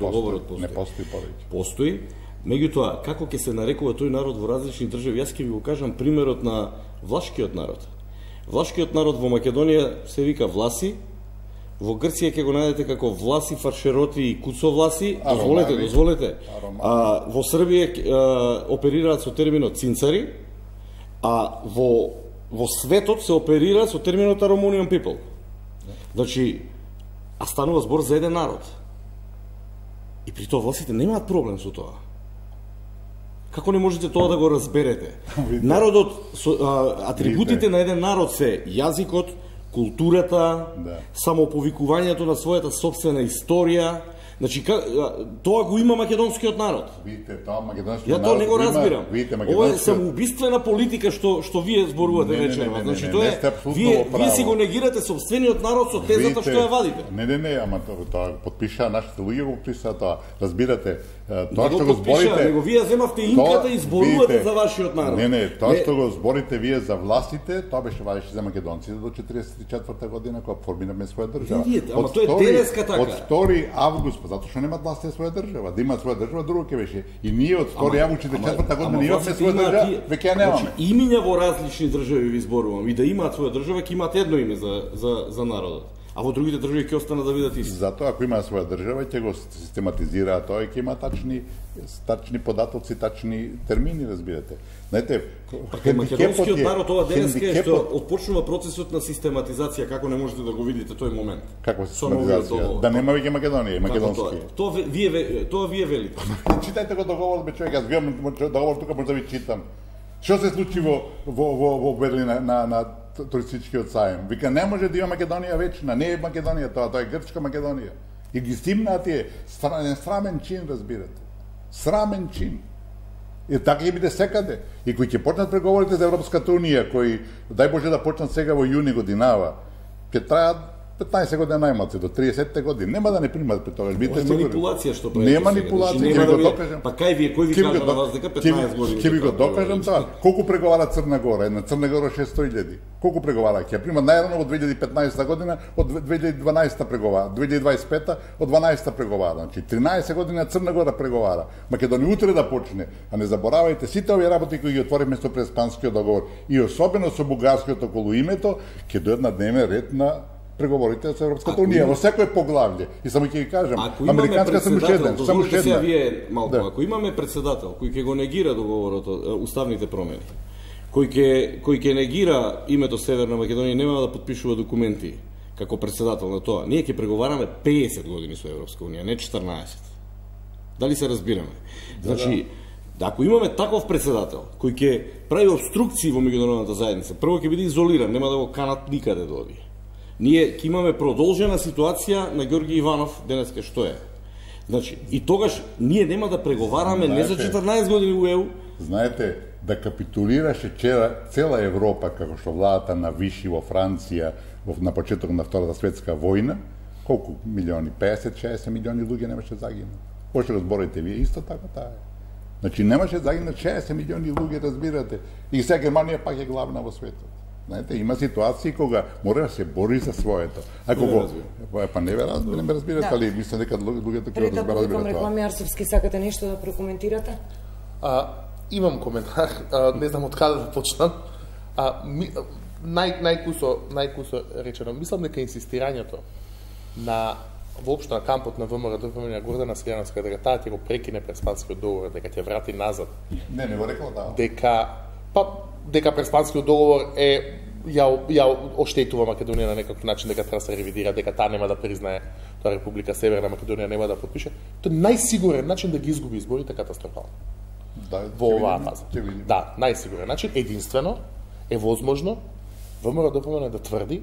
постои повеќе. Постои. Меѓутоа, како ќе се нарекува тој народ во различни држави, јас ќе ви го кажам примерот на влашкиот народ. Влашкиот народ во Македонија се вика власи, во Грција ќе го најдете како власи, фаршероти и куцовласи, дозволете. Во Србија оперираат со терминот цинцари, а во светот се оперира со терминот Aromanian people. Значи, а станува збор за еден народ. И при тоа власите немаат проблем со тоа. Како не можете тоа да го разберете? Народот, атрибутите на еден народ се јазикот, културата, самоповикувањето на својата собствена историја. Значи, тоа го има македонскиот народ. Видите, тоа македонскиот народ. Ја тоа не го разбирам. Ова е македонскиот... самоубиствена политика што вие зборувате вечерва. Значи, тоа е вие си го негирате собствениот народ со тезата што ја вадите. Не, ама тоа подпиша нашите луѓе го подпиша тоа. Разбирате, тоа што го зборите. Него вие земавте инката и зборувате за вашиот народ. Не, тоа што го зборите вие за властите, тоа беше вадеше за македонците до 44-та година кога формираме своја држава. Ама тоа е денеска така. Од 2 август затоа што немаат власт на своја држава. Да имаат своја држава, друго ќе беше. И ние од 2 август 44-та година имаме своја држава, веќе ја немаме. Значи, имиња во различни држави ви зборувам. И да имаат своја држава, ќе имаат едно име за народот. А во другите држави ќе останат да бидат исти. Затоа ако имаат своја држава, ќе го систематизираат тоа и ќе има тачни податоци, тачни термини, разбирате. Знаете, македонскиот народ ова денеска е што отпочнува процесот на систематизација, како не можете да го видите тој момент. Каква систематизација? Да нема веќе Македонија, македонски. Тоа вие велите. Читајте го договор, бе човек, јас гледам договор тука може да ви читам. Што се случи во Берлин на туристичкиот сајм? Вика, не може да има Македонија вечна, не е Македонија тоа е Грчка Македонија. И ги стимнаат е срамен чин, разбирате. Срамен чин. И така ќе биде секаде. И кои ќе почнат преговорите за Европската унија, кои дај Боже да почнат сега во јуни годинава, ќе траат 15 години најмалце, до 30 години. Нема да не примат пред тоа. Ова е манипулација што правите. Не манипулација, ќе ви го докажам. Па кај вие, кој ви кажа на вас дека 15 години? Ќе ви го докажам тоа. Колку преговара Црна Гора? Една Црна Гора 600.000. Колку преговара? Ќе примат најрано од 2015 година, од 2012 преговара, 2025 од 12 преговара. Значи 13 години Црна Гора преговара. Македонија утре да почне. А не заборавајте сите овие работи кои ги отворивме со Преспанскиот договор и особено со бугарскиот околу името, ќе дојдат на дневен ред на преговорите со Европската унија во секој поглавје. И само ќе ви кажам, американска само еден, само една. Вие малку, ако имаме председател кој ќе го негира договорот, уставните промени, кој ќе негира името Северна Македонија, нема да подпишува документи како председател на тоа. Ние ќе преговараме 50 години со Европска унија, не 14. Дали се разбираме? Значи, ако имаме таков председател кој ќе прави обструкции во меѓународната заедница, прво ќе биде изолиран, нема да го канат никаде да оди. Ние ќе имаме продолжена ситуација на Ѓорги Иванов денеска што е. Значи, и тогаш ние нема да преговараме не за 14 години во ЕУ. Знаете, да капитулираше цела Европа како што владата навиши во Франција на почеток на Втората светска војна, колку милиони, 50-60 милиони луѓе немаше загинат. Може да зборите вие исто така таа е. Значи немаше загинат 60 милиони луѓе, разбирате. И сега Германија пак е главна во светот. Знаете, има ситуации кога мора да се бори за своето. Ако го па не ме разбирате, али мислам дека луѓето ќе да разберат тоа. Реклами Арсовски, сакате нешто да прокоментирате? Имам коментар, не знам од каде да почнам. Најкусо речено, мислам дека инсистирањето на воопшто на кампот на ВМРО-ДПМН на Гордана Силјановска дека таа ќе го прекине Преспанскиот договор, дека ќе врати назад. Не го рекла таа. Дека Преспанскиот договор ја оштетува Македонија на некаков начин, дека треба да се ревидира, дека таа нема да признае тоа Република Северна Македонија нема да подпише. Тоа е најсигурен начин да ги изгуби изборите катастрофално. Во оваа фаза. Да, најсигурен начин, единствено е возможно ВМРО-ДПМН да тврди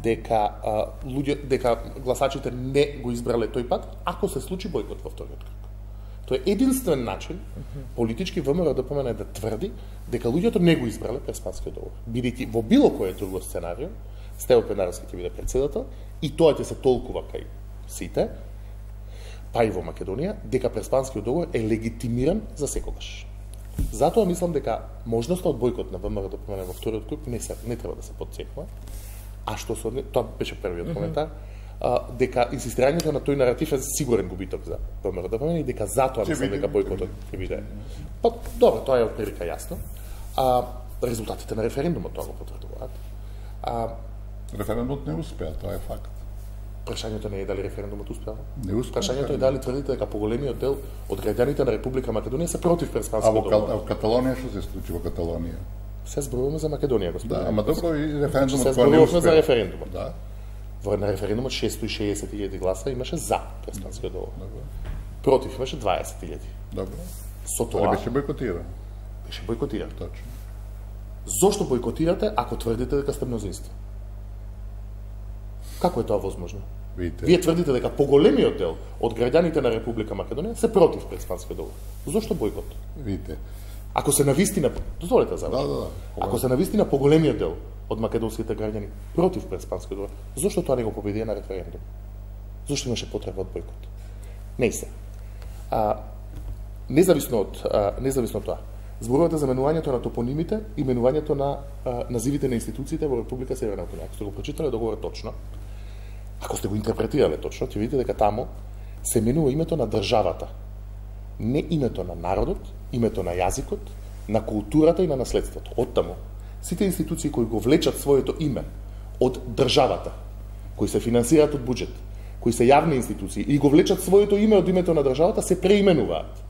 дека гласачите не го избрале тој пат, ако се случи бојкот во вториот крг. Тоа е единствен начин политички ВМРО-ДПМН да тврди дека луѓето не го избрале Преспанскиот договор. Бидејќи во било кој друго сценарио, Стево Пенаровски ќе биде председател и тоа ќе се толкува кај сите, па и во Македонија, дека Преспанскиот договор е легитимиран за секогаш. Затоа мислам дека можноста од бојкот на ВМРО-ДПМН во вториот круг не треба да се потцекнува. А што со тоа беше првиот коментар, дека инсистирањето на тој наратив е сигурен губиток за ВМРО-ДПМН и дека затоа мислам дека бојкотот ќе биде. Па добро, тоа е отприлика јасно. Резултатите на референдумот тоа го потврдуваат. Референдумот не успеа, тоа е факт. Прашањето не е дали референдумот успеа. Не успеа. Прашањето е дали тврдите дека поголемиот дел од граѓаните на Република Македонија се против Преспанскиот договор. А во Каталонија што се случи во Каталонија? Се зборуваме за Македонија, господине. Да, ама добро и референдумот се зборуваме за референдумот. Да. Во на референдумот 660.000 гласа имаше за Преспанскиот договор. Против имаше 20.000. Добро. Со тоа беше бојкотиран. Беше бојкотиран. Точно. Зошто бојкотирате ако тврдите дека сте мнозинство? Како е тоа возможно? Видите. Вие тврдите дека поголемиот дел од граѓаните на Република Македонија се против Преспанскиот договор. Зошто бојкот? Видите. Ако се навистина, дозволете за Да. Ако се навистина поголемиот дел од македонските граѓани против Преспанскиот договор, зошто тоа не го победија на референдум? Зошто имаше потреба од бојкот? Не се. Независно од тоа, зборувате за менувањето на топонимите и менувањето на називите на институциите во Република Северна Македонија. Ако сте го прочитале договорот точно, ако сте го интерпретирале точно, ќе видите дека таму се менува името на државата, не името на народот, името на јазикот, на културата и на наследството. Оттаму, сите институции кои го влечат своето име од државата, кои се финансираат од буџет, кои се јавни институции и го влечат своето име од името на државата, се преименуваат.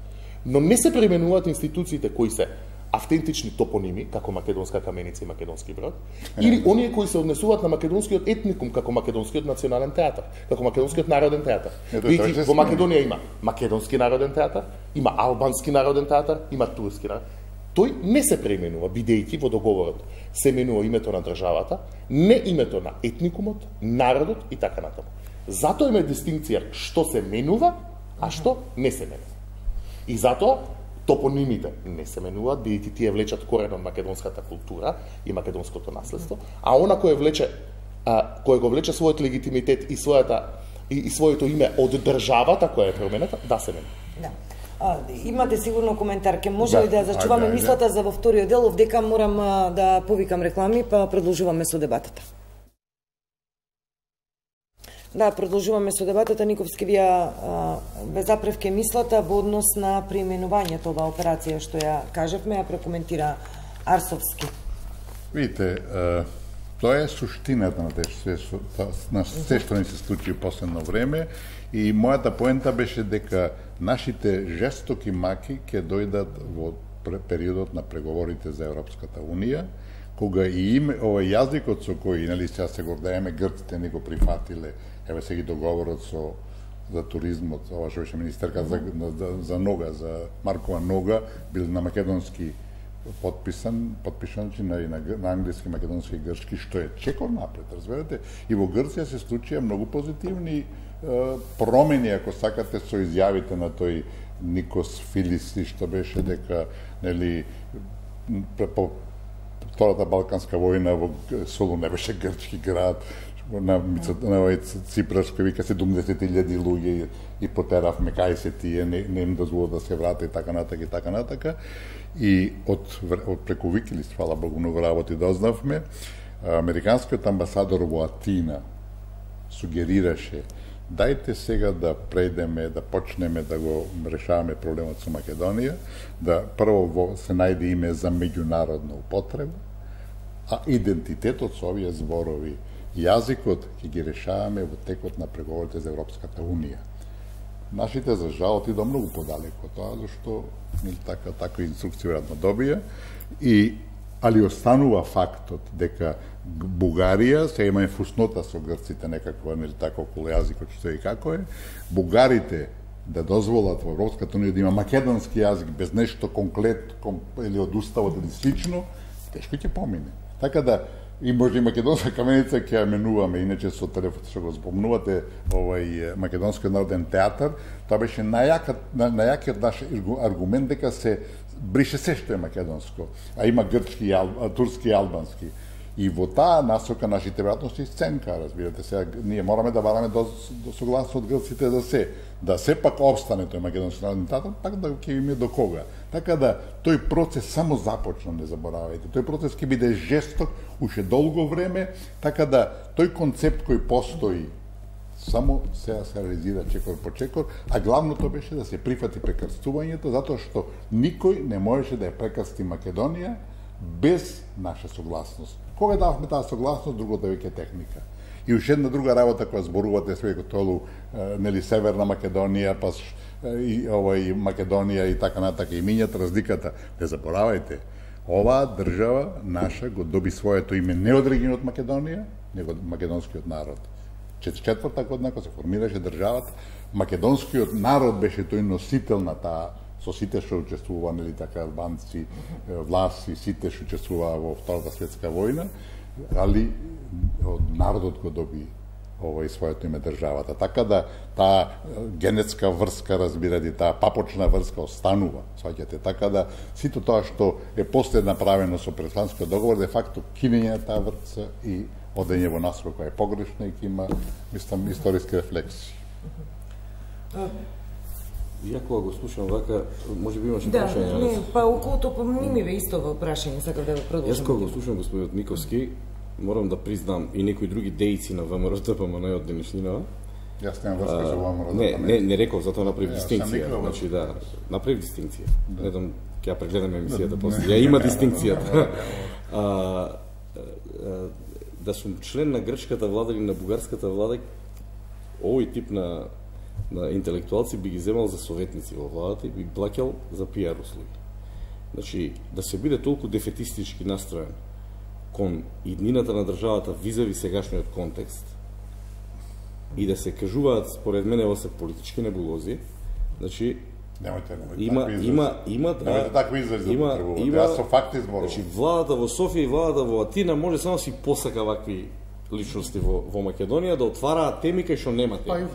Но не се преименуваат институциите кои се автентични топоними, како Македонска каменица и Македонски брод, или оние кои се однесуваат на македонскиот етникум, како Македонскиот национален театар, како Македонскиот народен театар. Видите, во Македонија има Македонски народен театар, има Албански народен театар, има Турски народен. Тој не се преименува, бидејќи во договорот се менува името на државата, не името на етникумот, народот и така натаму. Затоа има дистинкција што се менува, а што не се менува. И затоа топонимите не се менуваат, бидејќи тие влечат корен од македонската култура и македонското наследство, а она кој го влече својот легитимитет и своето име од државата која е променета, да се менува. Да. Имате сигурно коментар, ке може ли да зачуваме мислата за во вториот дел, овдека морам да повикам реклами, па продолжуваме со дебатата. Да, продолжуваме со дебатата. Никовски, вие ве запревке мислата во однос на преименувањето оваа операција што ја кажавме, ја прокоментира Арсовски. Видите, Тоа е суштината на се што ни се случи во последно време и мојата поента беше дека нашите жестоки маки ќе дојдат во периодот на преговорите за Европската Унија, кога и овој јазикот со кој, нели, сега се гордееме, грците ни го прифатиле, еве сега договорот за туризмот, ова што беше министерка за Нога, за Маркова Нога, бил на македонски подписан на англиски, македонски и грчки, што е чекор напред, разберете? И во Грција се случија многу позитивни промени, ако сакате, со изјавите на тој Никос Филиси, што беше дека, нели, по Втората Балканска војна во Солун не беше грчки град, на овој Ципрас кој вика 70.000 луѓе и потеравме кај се тие, не им дозвола да се врата и така натака. И од преку Викилист, фала Богу, многу работи дознавме, американскиот амбасадор во Атина сугерираше дајте сега да прејдеме, да почнеме да го решаваме проблемот со Македонија, да прво се најде име за меѓународна употреба, а идентитетот со овие зборови, јазикот ќе ги решаваме во текот на преговорите за Европската Унија. Нашите, за жал, отидо многу подалеко тоа, зашто така инструкција веројатно добија, али останува фактот дека Бугарија, сега имаме фуснота со грците некаква, нели така околу јазикот што и како е, бугарите да дозволат во Европската Унија да има македонски јазик без нешто или од уставот или слично, тешко ќе помине. Така да и може и македонска каменица ќе ја менуваме, иначе со телефон што го спомнувате, овој македонскиот народен театар, тоа беше најакиот наш аргумент дека се брише се што е македонско, а има грчки, турски и албански. И во таа насока нашите веројатности сценка, разбирате, сега ние мораме да бараме до согласно од грците да сепак обстане тој македонски народен театар, пак да ќе име до кога. Така да тој процес само започна, не заборавајте. Тој процес ќе биде жесток уште долго време, така да тој концепт кој постои само сега се реализира чекор по чекор, а главното беше да се прифати прекрстувањето, затоа што никој не можеше да ја прекрсти Македонија без наша согласност. Кога дававме таа согласност, другото веќе техника. И уште една друга работа која зборувате све толу, нели, Северна Македонија, па и овој Македонија и така натака и мињат разликата. Не заборавајте, оваа држава наша го доби своето име не од регионот Македонија, него од македонскиот народ. Четврта година кога се формираше државата, македонскиот народ беше тој носител на таа, со сите што учествува, нели така, албанци, власи, сите што учествуваа во Втората светска војна, али од народот го доби своето име државата. Така да таа генетска врска, разбирате, таа папочна врска останува, сваќате. Така да сите тоа што е после направено со Преспанскиот договор, де факто кинење на таа врска и одење во насока која е погрешна и ќе има, мислам, историски рефлексии. Ја кога го слушам вака, може би имаше прашање. Да, па околу тоа ми бе исто во прашање, сакав да го продолжам. Јас кога го слушам господинот Миковски, морам да признам и некои други дејци на ВМРО-ДПМН од денешнина. Јас немам врска со ВМРО-ДПМН. Не реков, затоа направив дистинкција. Значи да, направив дистинкција. Не дам, ќе ја прегледам емисијата после. Ја има дистинкцијата. Да сум член на грчката влада или на бугарската влада, овој тип на интелектуалци би ги земал за советници во владата и би плаќал за пиар услуги. Значи, да се биде толку дефетистички настроен кон иднината на државата визави сегашниот контекст и да се кажуваат, според мене, ово се политички небулози, значи, има такви изрази да потребувате. Јас со факти зборувам. Значи, владата во Софија и владата во Атина може само си посака вакви личности во Македонија да отвараат теми кај што нема теми.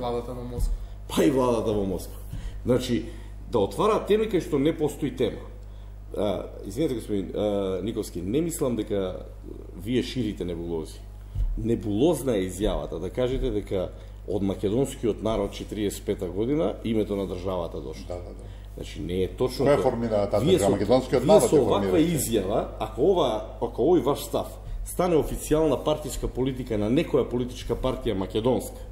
Па и владата во Москва. Значи, да отвараат теми кај што не постои тема. Извинете, господин Никовски, не мислам дека вие ширите небулози. Небулозна е изјавата да кажете дека од македонскиот народ 45-та година името на државата дошло. Да. Значи не е точно. Кој формира таа држава? Македонскиот народ е формира. Ваква изјава, ако овој ваш став стане официјална партиска политика на некоја политичка партија македонска,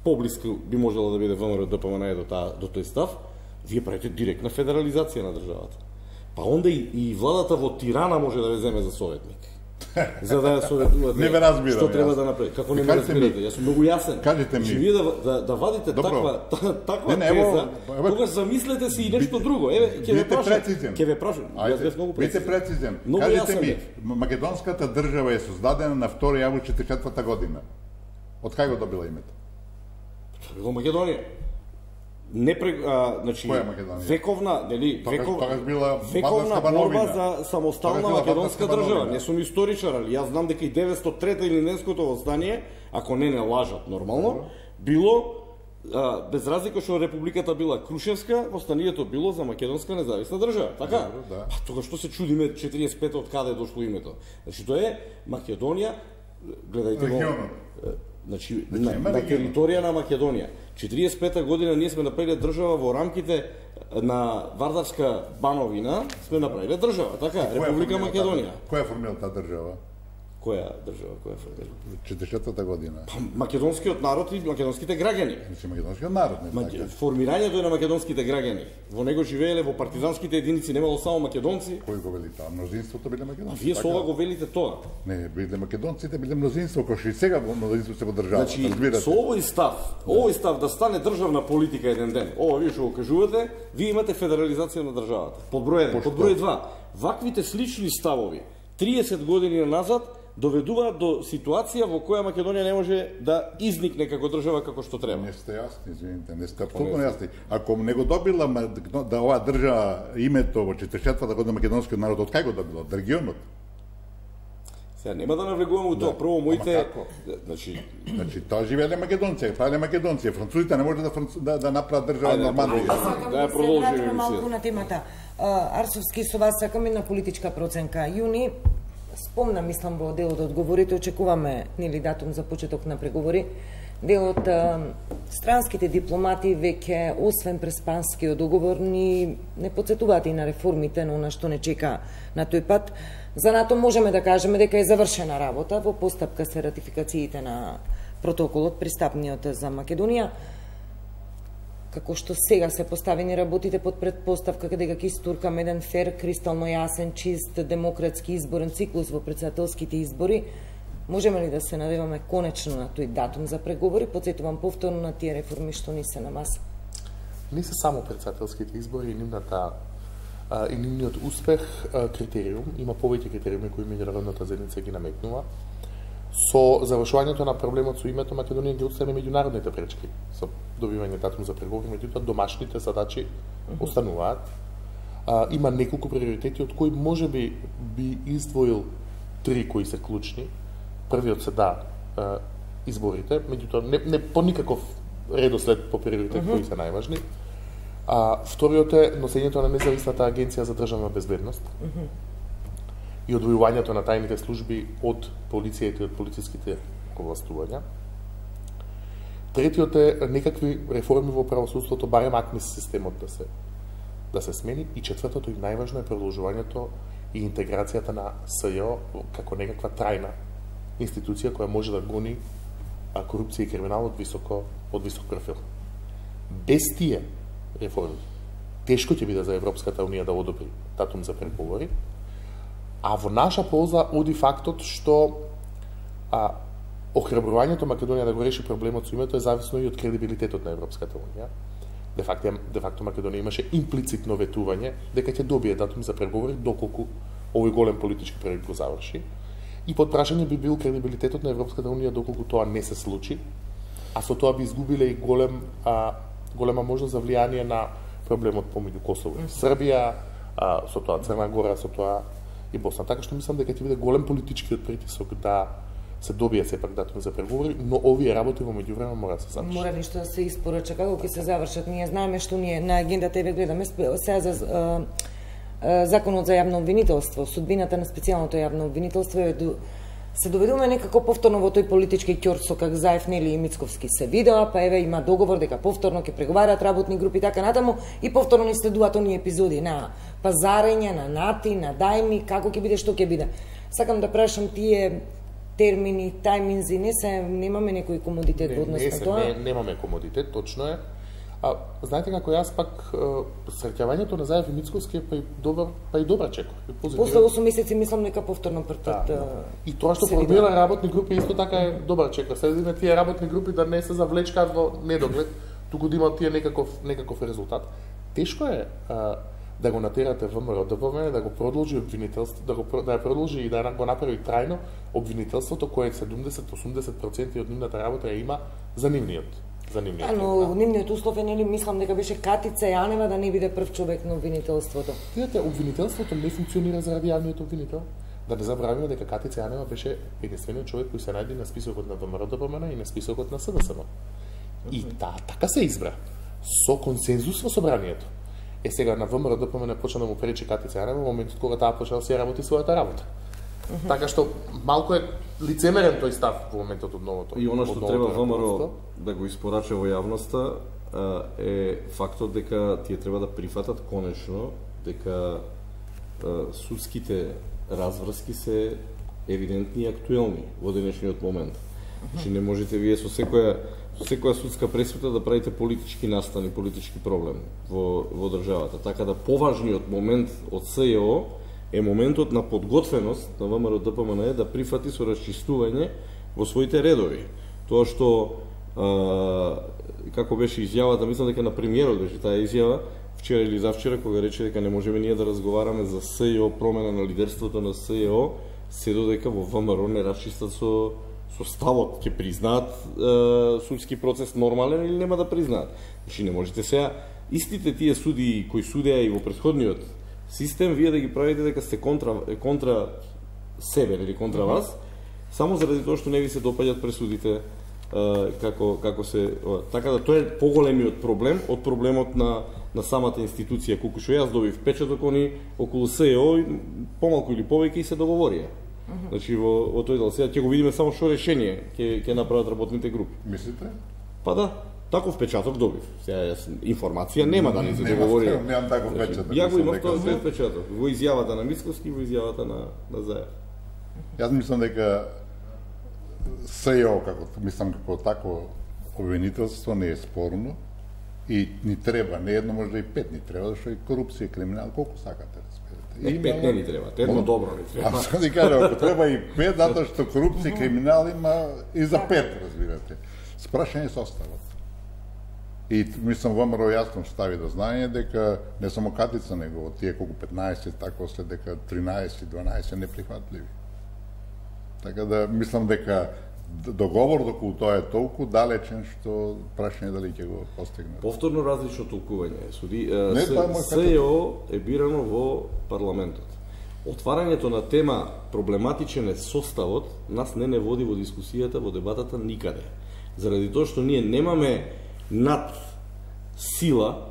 поблиску би можела да биде ВМРО-ДПМН до тој став, вие правите директна федерализација на државата. Па онда и владата во Тирана може да ве земе за советник. за да ја советувате Не ве разбирам, што треба јас. да направи. Како не ме Кажете ми- разбирате? Јас сум многу јасен. Кажете ми. Значи, вие да вадите Добро. таква Не, ево, теза, ево, тогаш замислете си и нешто друго. Еве, ќе ве Бидете прашам. прецизен. Ќе ве прашам. Јас бев многу Бидете прецизен. прецизен. Многу Кажете јасен ми, бев. македонската држава е создадена на 2 август 44 година. Од кај го добила името? Во Македонија. Значи, Која Македонија? вековна, нели, Тогаш била вековна Вардарска борба бановина. за самостална Тогаш била македонска Вардарска држава. бановина. Не сум историчар, али јас знам дека и 903 илинденското восстание, ако не лажат нормално, било без разлика што републиката била Крушевска, восстанието било за македонска независна држава. Така? Добро, да. Па тогаш што се чудиме 45 од каде е дошло името? Значи тоа е Македонија, гледајте го. Регионот. Значи, Значи, има на регионот. територија на Македонија. 45-та година ние сме направиле држава во рамките на Вардарска бановина, сме направиле држава, така, Која Република формира Македонија. Која формира таа држава? Која држава, која формира? 44-та година. Па, македонскиот народ и македонските граѓани. Значи македонскиот народ, не така. Формирањето е на македонските граѓани. Во него живееле во партизанските единици, немало само македонци. Кој го вели таа? Мнозинството биле А македонци. вие така? со ова го велите тоа. Не, биле македонците, биле мнозинство, кој што и сега мнозинство се во државата, Значи, разбирате. со овој став да стане државна политика еден ден, ова вие што го кажувате, вие имате федерализација на државата. Под број 1, под број 2. Ваквите слични ставови 30 години назад доведуваат до ситуација во која Македонија не може да изникне како држава како што треба. Не сте јасни, извините, не сте апсолутно јасни. Ако не го добила да оваа држава името во 44-та година македонскиот народ, од кај го добила? Од регионот? Сега нема да навлегуваме у тоа. Прво моите, Ама како? Значи, тоа живееле македонци, правеле македонци. Французите не може да направат држава Ајде, нормална. продолжи. Да ја се продолжиме вратиме малку емисијата. на темата. Арсовски, со вас сакам една политичка проценка. Јуни, спомна, мислам, во дел од одговорите, очекуваме нели датум за почеток на преговори. Дел од странските дипломати веќе, освен преспанскиот договор, ни не подсетуваат и на реформите, но на што не чека на тој пат. За НАТО можеме да кажеме дека е завршена работа, во постапка се ратификациите на протоколот, пристапниот за Македонија. Како што сега се поставени работите под предпоставка дека ќе истуркаме еден фер, кристално јасен, чист, демократски изборен циклус во претседателските избори, можеме ли да се надеваме конечно на тој датум за преговори? Подсетувам повторно на тие реформи што ни се на маса. Не се само претседателските избори и и нивниот успех критериум, има повеќе критериуми кои меѓународната заедница ги наметнува. Со завршувањето на проблемот со името Македонија ги отстрани меѓународните пречки со добивање датум за преговори, меѓутоа домашните задачи остануваат. Има неколку приоритети од кои можеби би издвоил 3 кои се клучни. Првиот се изборите, меѓутоа не по никаков редослед по приоритет кои се најважни. Вториот е носењето на независната агенција за државна безбедност и одвојувањето на тајните служби од полицијата и од полициските овластувања. Третиот е некакви реформи во правосудството, барем АКМИС системот да се смени. И четвртото и најважно е продолжувањето и интеграцијата на СЈО како некаква трајна институција која може да гони корупција и криминал од висок профил. Без тие реформи тешко ќе биде за Европската унија да одобри датум за преговори, а во наша полза оди фактот што охрабрувањето Македонија да го реши проблемот со името е зависно и од кредибилитетот на Европската унија. Де факто Македонија имаше имплицитно ветување дека ќе добие датум за преговори доколку овој голем политички проект го заврши. И под прашање би бил кредибилитетот на Европската унија доколку тоа не се случи, а со тоа би изгубиле и голема можност за влијание на проблемот помеѓу Косово и Србија, со тоа Црна Гора, со тоа и Босна. Така што мислам дека ќе биде голем политичкиот притисок да се добие сепак датум за преговори, но овие работи во меѓувреме мора да се завршат. Мора нешто да се испорача, како ќе се завршат. Ние знаеме што ние на агендата еве гледаме сега за законот за јавно обвинителство, судбината на специјалното јавно обвинителство се доведуваме некако повторно во тој политички ќорсо как Заев нели и Мицковски се видоа, па еве има договор дека повторно ќе преговараат работни групи така натаму и повторно ни следуваат оние епизоди на пазарење, на нати, на дајми, како ќе биде, што ќе биде. Сакам да прашам тие термини, тајминзи, немаме некој комодитет во однос на тоа? Немаме комодитет, точно е. знаете како јас пак среќавањето на Заев и Мицковски е па и добра чекор. После 8 месеци мислам дека повторно првпат. И тоа што формира работни групи исто така е добар чекор. Следиме тие работни групи да не се завлечкаат во недоглед, туку да имаат тие некаков резултат. Тешко е да го натерате ВМРО ДПМН, да го продолжи обвинителство, да ја продолжи и да го направи трајно обвинителството кое 70-80% од нивната работа ја има за нивниот. Но нивниот услов е, нели, мислам дека беше Катица Јанева да не биде прв човек на обвинителството. Видете, обвинителството не функционира заради јавниот обвинител. Да не забравиме дека Катица Јанева беше единствениот човек кој се најде на списокот на ВМРО ДПМН и на списокот на СДСМ. И така се избра со консензус во собранието. Сега на ВМРО ДПМН почна да му пречи Катица Јанева во моментот кога таа почна да си работи својата работа. Така што малку е лицемерен тој став во моментот од новото. И она што треба ВМРО да го испорача во јавноста е фактот дека тие треба да прифатат конечно дека судските разврски се евидентни и актуелни во денешниот момент. Значи не можете вие со секоја судска пресуда да правите политички настан и политички проблем во државата. Така да поважниот момент од СЈО е моментот на подготвеност на ВМРО ДПМН да прифати со расчистување во своите редови. Тоа што како беше изјавата, мислам дека на премиерот беше таа изјава вчера или завчера кога рече дека не можеме ние да разговараме за СЈО, промена на лидерството на СЈО, се додека во ВМРО не расчистат со ставот, ќе признаат судски процес нормален или нема да признаат. Значи не можете сега истите тие суди кои судеа и во претходниот систем, вие да ги правите дека сте контра себе или контра вас, само заради тоа што не ви се допаѓат пресудите како се... Така да тоа е поголемиот проблем од проблемот на самата институција, колку што јас добив печаток, они околу СЈО помалку или повеќе и се договорија. Значи во тој дел сега ќе го видиме само што решение ќе направат работните групи. Мислите? Па да. Таков печаток добив. Сега информација нема да ни се договори. Немам таков печаток. Ја го имав тој печаток во изјавата на Мицковски, во изјавата на Заев. Јас мислам дека СЈО како такво обвинителство не е спорно и ни треба, не едно, може и 5 ни треба, зашто и корупција, криминал, колку сакате, разберете. И 5 не ни треба, едно добро ни треба. Аз да кажам, ако треба и 5, затоа што корупција и криминал има и за 5, разбирате. Спрашање составот. И мислам ВМРО јасно стави до знање дека не само Катица, него од тие колку 15, така след дека 13-12 неприхватливи. Така да мислам дека договор околу тоа е толку далечен што прашање дали ќе го постигне. Повторно различно толкување. СЈО е бирано во парламентот. Отварањето на тема проблематичен е составот нас не води во дискусијата, во дебатата никаде. Заради тоа што ние немаме над сила,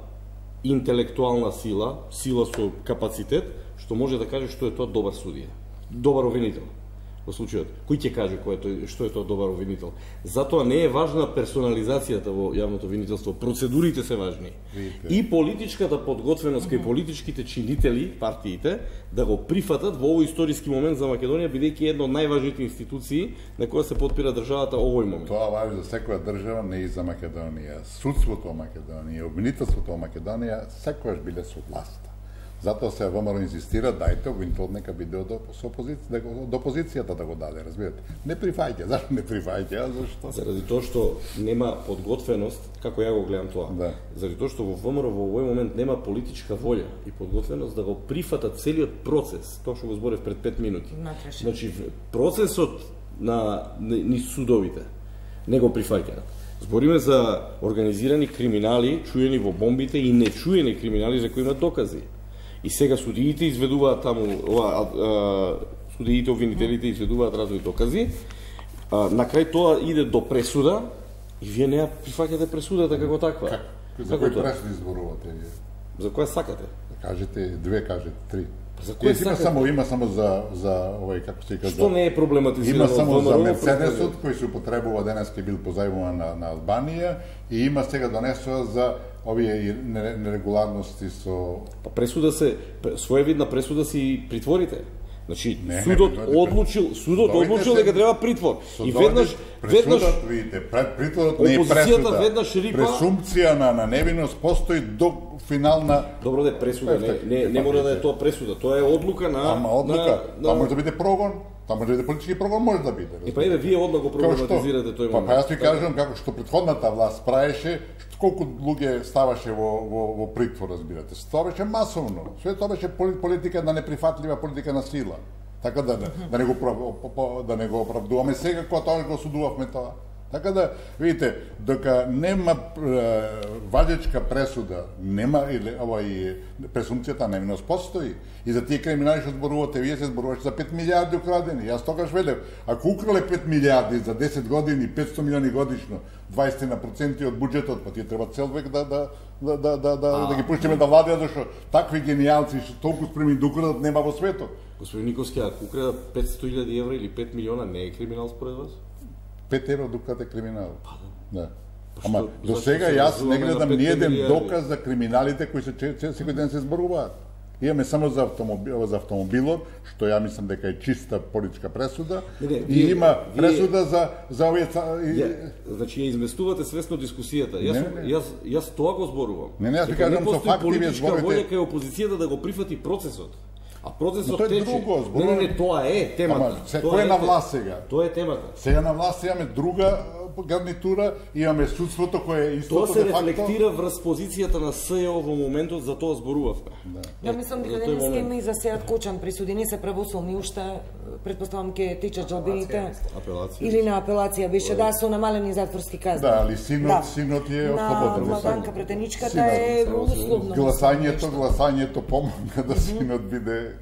интелектуална сила, сила со капацитет, што може да каже што е тоа добар судија, добар обвинител. Во случајот, кој ќе каже што е тоа добар обвинител? Затоа не е важна персонализацијата во јавното обвинителство, процедурите се важни. И политичката подготвеност кај политичките чинители, партиите, да го прифатат во овој историски момент за Македонија, бидејќи една од најважните институции на која се потпира државата овој момент. Тоа важи за секоја држава, не и за Македонија. Судството во Македонија, обвинителството во Македонија секогаш биле со власта. Затоа се ВМРО инзистира, дајте обвинител нека биде од опозицијата да го даде, разбирате. Не прифаќа, зашто не прифаќа, зашто? Заради тоа што нема подготвеност, како ја го гледам тоа. Да. Заради тоа што во ВМРО во овој момент нема политичка волја и подготвеност да го прифатат целиот процес, тоа што го зборев пред 5 минути. Значи процесот на судовите не го прифаќаат. Збориме за организирани криминали, чуени во бомбите и нечуени криминали за кои имат докази. И сега судиите изведуваат таму, судиите, обвинителите изведуваат разни докази, на крај тоа иде до пресуда и вие не ја прифаќате пресудата како таква. За кој пресуди зборувате вие? За која сакате? Кажете 2, кажете 3. За кој сакате? Има само за овој, како се кажа. Што не е проблематизирано? Има само за Мерцедесот кој се употребува денеска бил позајмуван на Албанија и има сега донесува за овие нерегуларности со... Пресуда се, своевидна пресуда си притворите. Значи, судот одлучил дека треба притвор. И веднаш видите, притворот не е опозицијата пресуда. веднаш рипа. Пресумпција на невиност постои до финална. Добро да е пресуда, не мора да е тоа пресуда, тоа е одлука на Ама одлука, тоа може да биде прогон, тоа може да биде политички прогон, може да биде. И па еве вие одма го проблематизирате тој момент. Па јас ви кажам како што претходната власт правеше, колку луѓе ставаше во притвор, разбирате. Тоа беше масовно. Све тоа беше политика на неприфатлива политика на сила. Така да не го оправдуваме сега кога тоа го осудувавме тоа. Така да, видите, дока нема важечка пресуда, нема или пресумпцијата на невиност постои. И за тие криминали што зборувате, вие се зборуваше за 5 милиарди украдени. Јас тогаш велев, ако украле 5 милиарди за 10 години, 500 милиони годишно, 20% од буџетот, па тие треба цел век да ги пуштиме да владеат, зашто такви генијалци што толку спремни да украдат нема во светот. Господин Никовски, ако украда 500.000 евра или 5 милиона, не е криминал според вас? 5 евро дукате криминал. Да. Па Ама до сега јас не гледам ни еден доказ за криминалите кои се секој ден се зборуваат. Имаме само за автомобилот, што ја мислам дека е чиста политичка пресуда, и има пресуда за овие значи ја изместувате свесно дискусијата. Јас тоа го зборувам. Јас ви кажам со факти вие зборите. Волја кај опозицијата да го прифати процесот. А процесот тече. Не, тоа е темата. Кој е на власт сега? Тоа е темата. Сега на власт имаме друга гарнитура, имаме судството кое е истото. Тоа се рефлектира врз позицијата на СЈО во моментот, за тоа зборувавме. Ја мислам дека денеска има и за Сеат Кочан присуди, не се правосудни уште, претпоставам ке течат жалбините. Или на апелација беше, да, со намалени затворски казни. Да, али синот е ослободен. На Владанка Претеничката е условно. Гласањето помогна да синот биде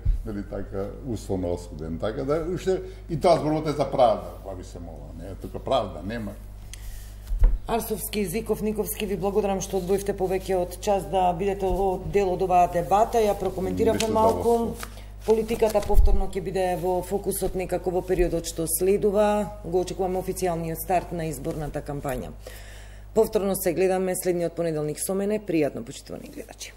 така условно осуден. Така да уште и тоа зборувате за правда, баби се мола, не е тука правда, нема. Арсовски, Зиков, Никовски, ви благодарам што одвоивте повеќе од час да бидете дел од оваа дебата. Ја прокоментиравме малку. Политиката повторно ќе биде во фокусот некако во периодот што следува. Го очекуваме официјалниот старт на изборната кампања. Повторно се гледаме следниот понеделник со мене. Пријатно почитувани гледачи.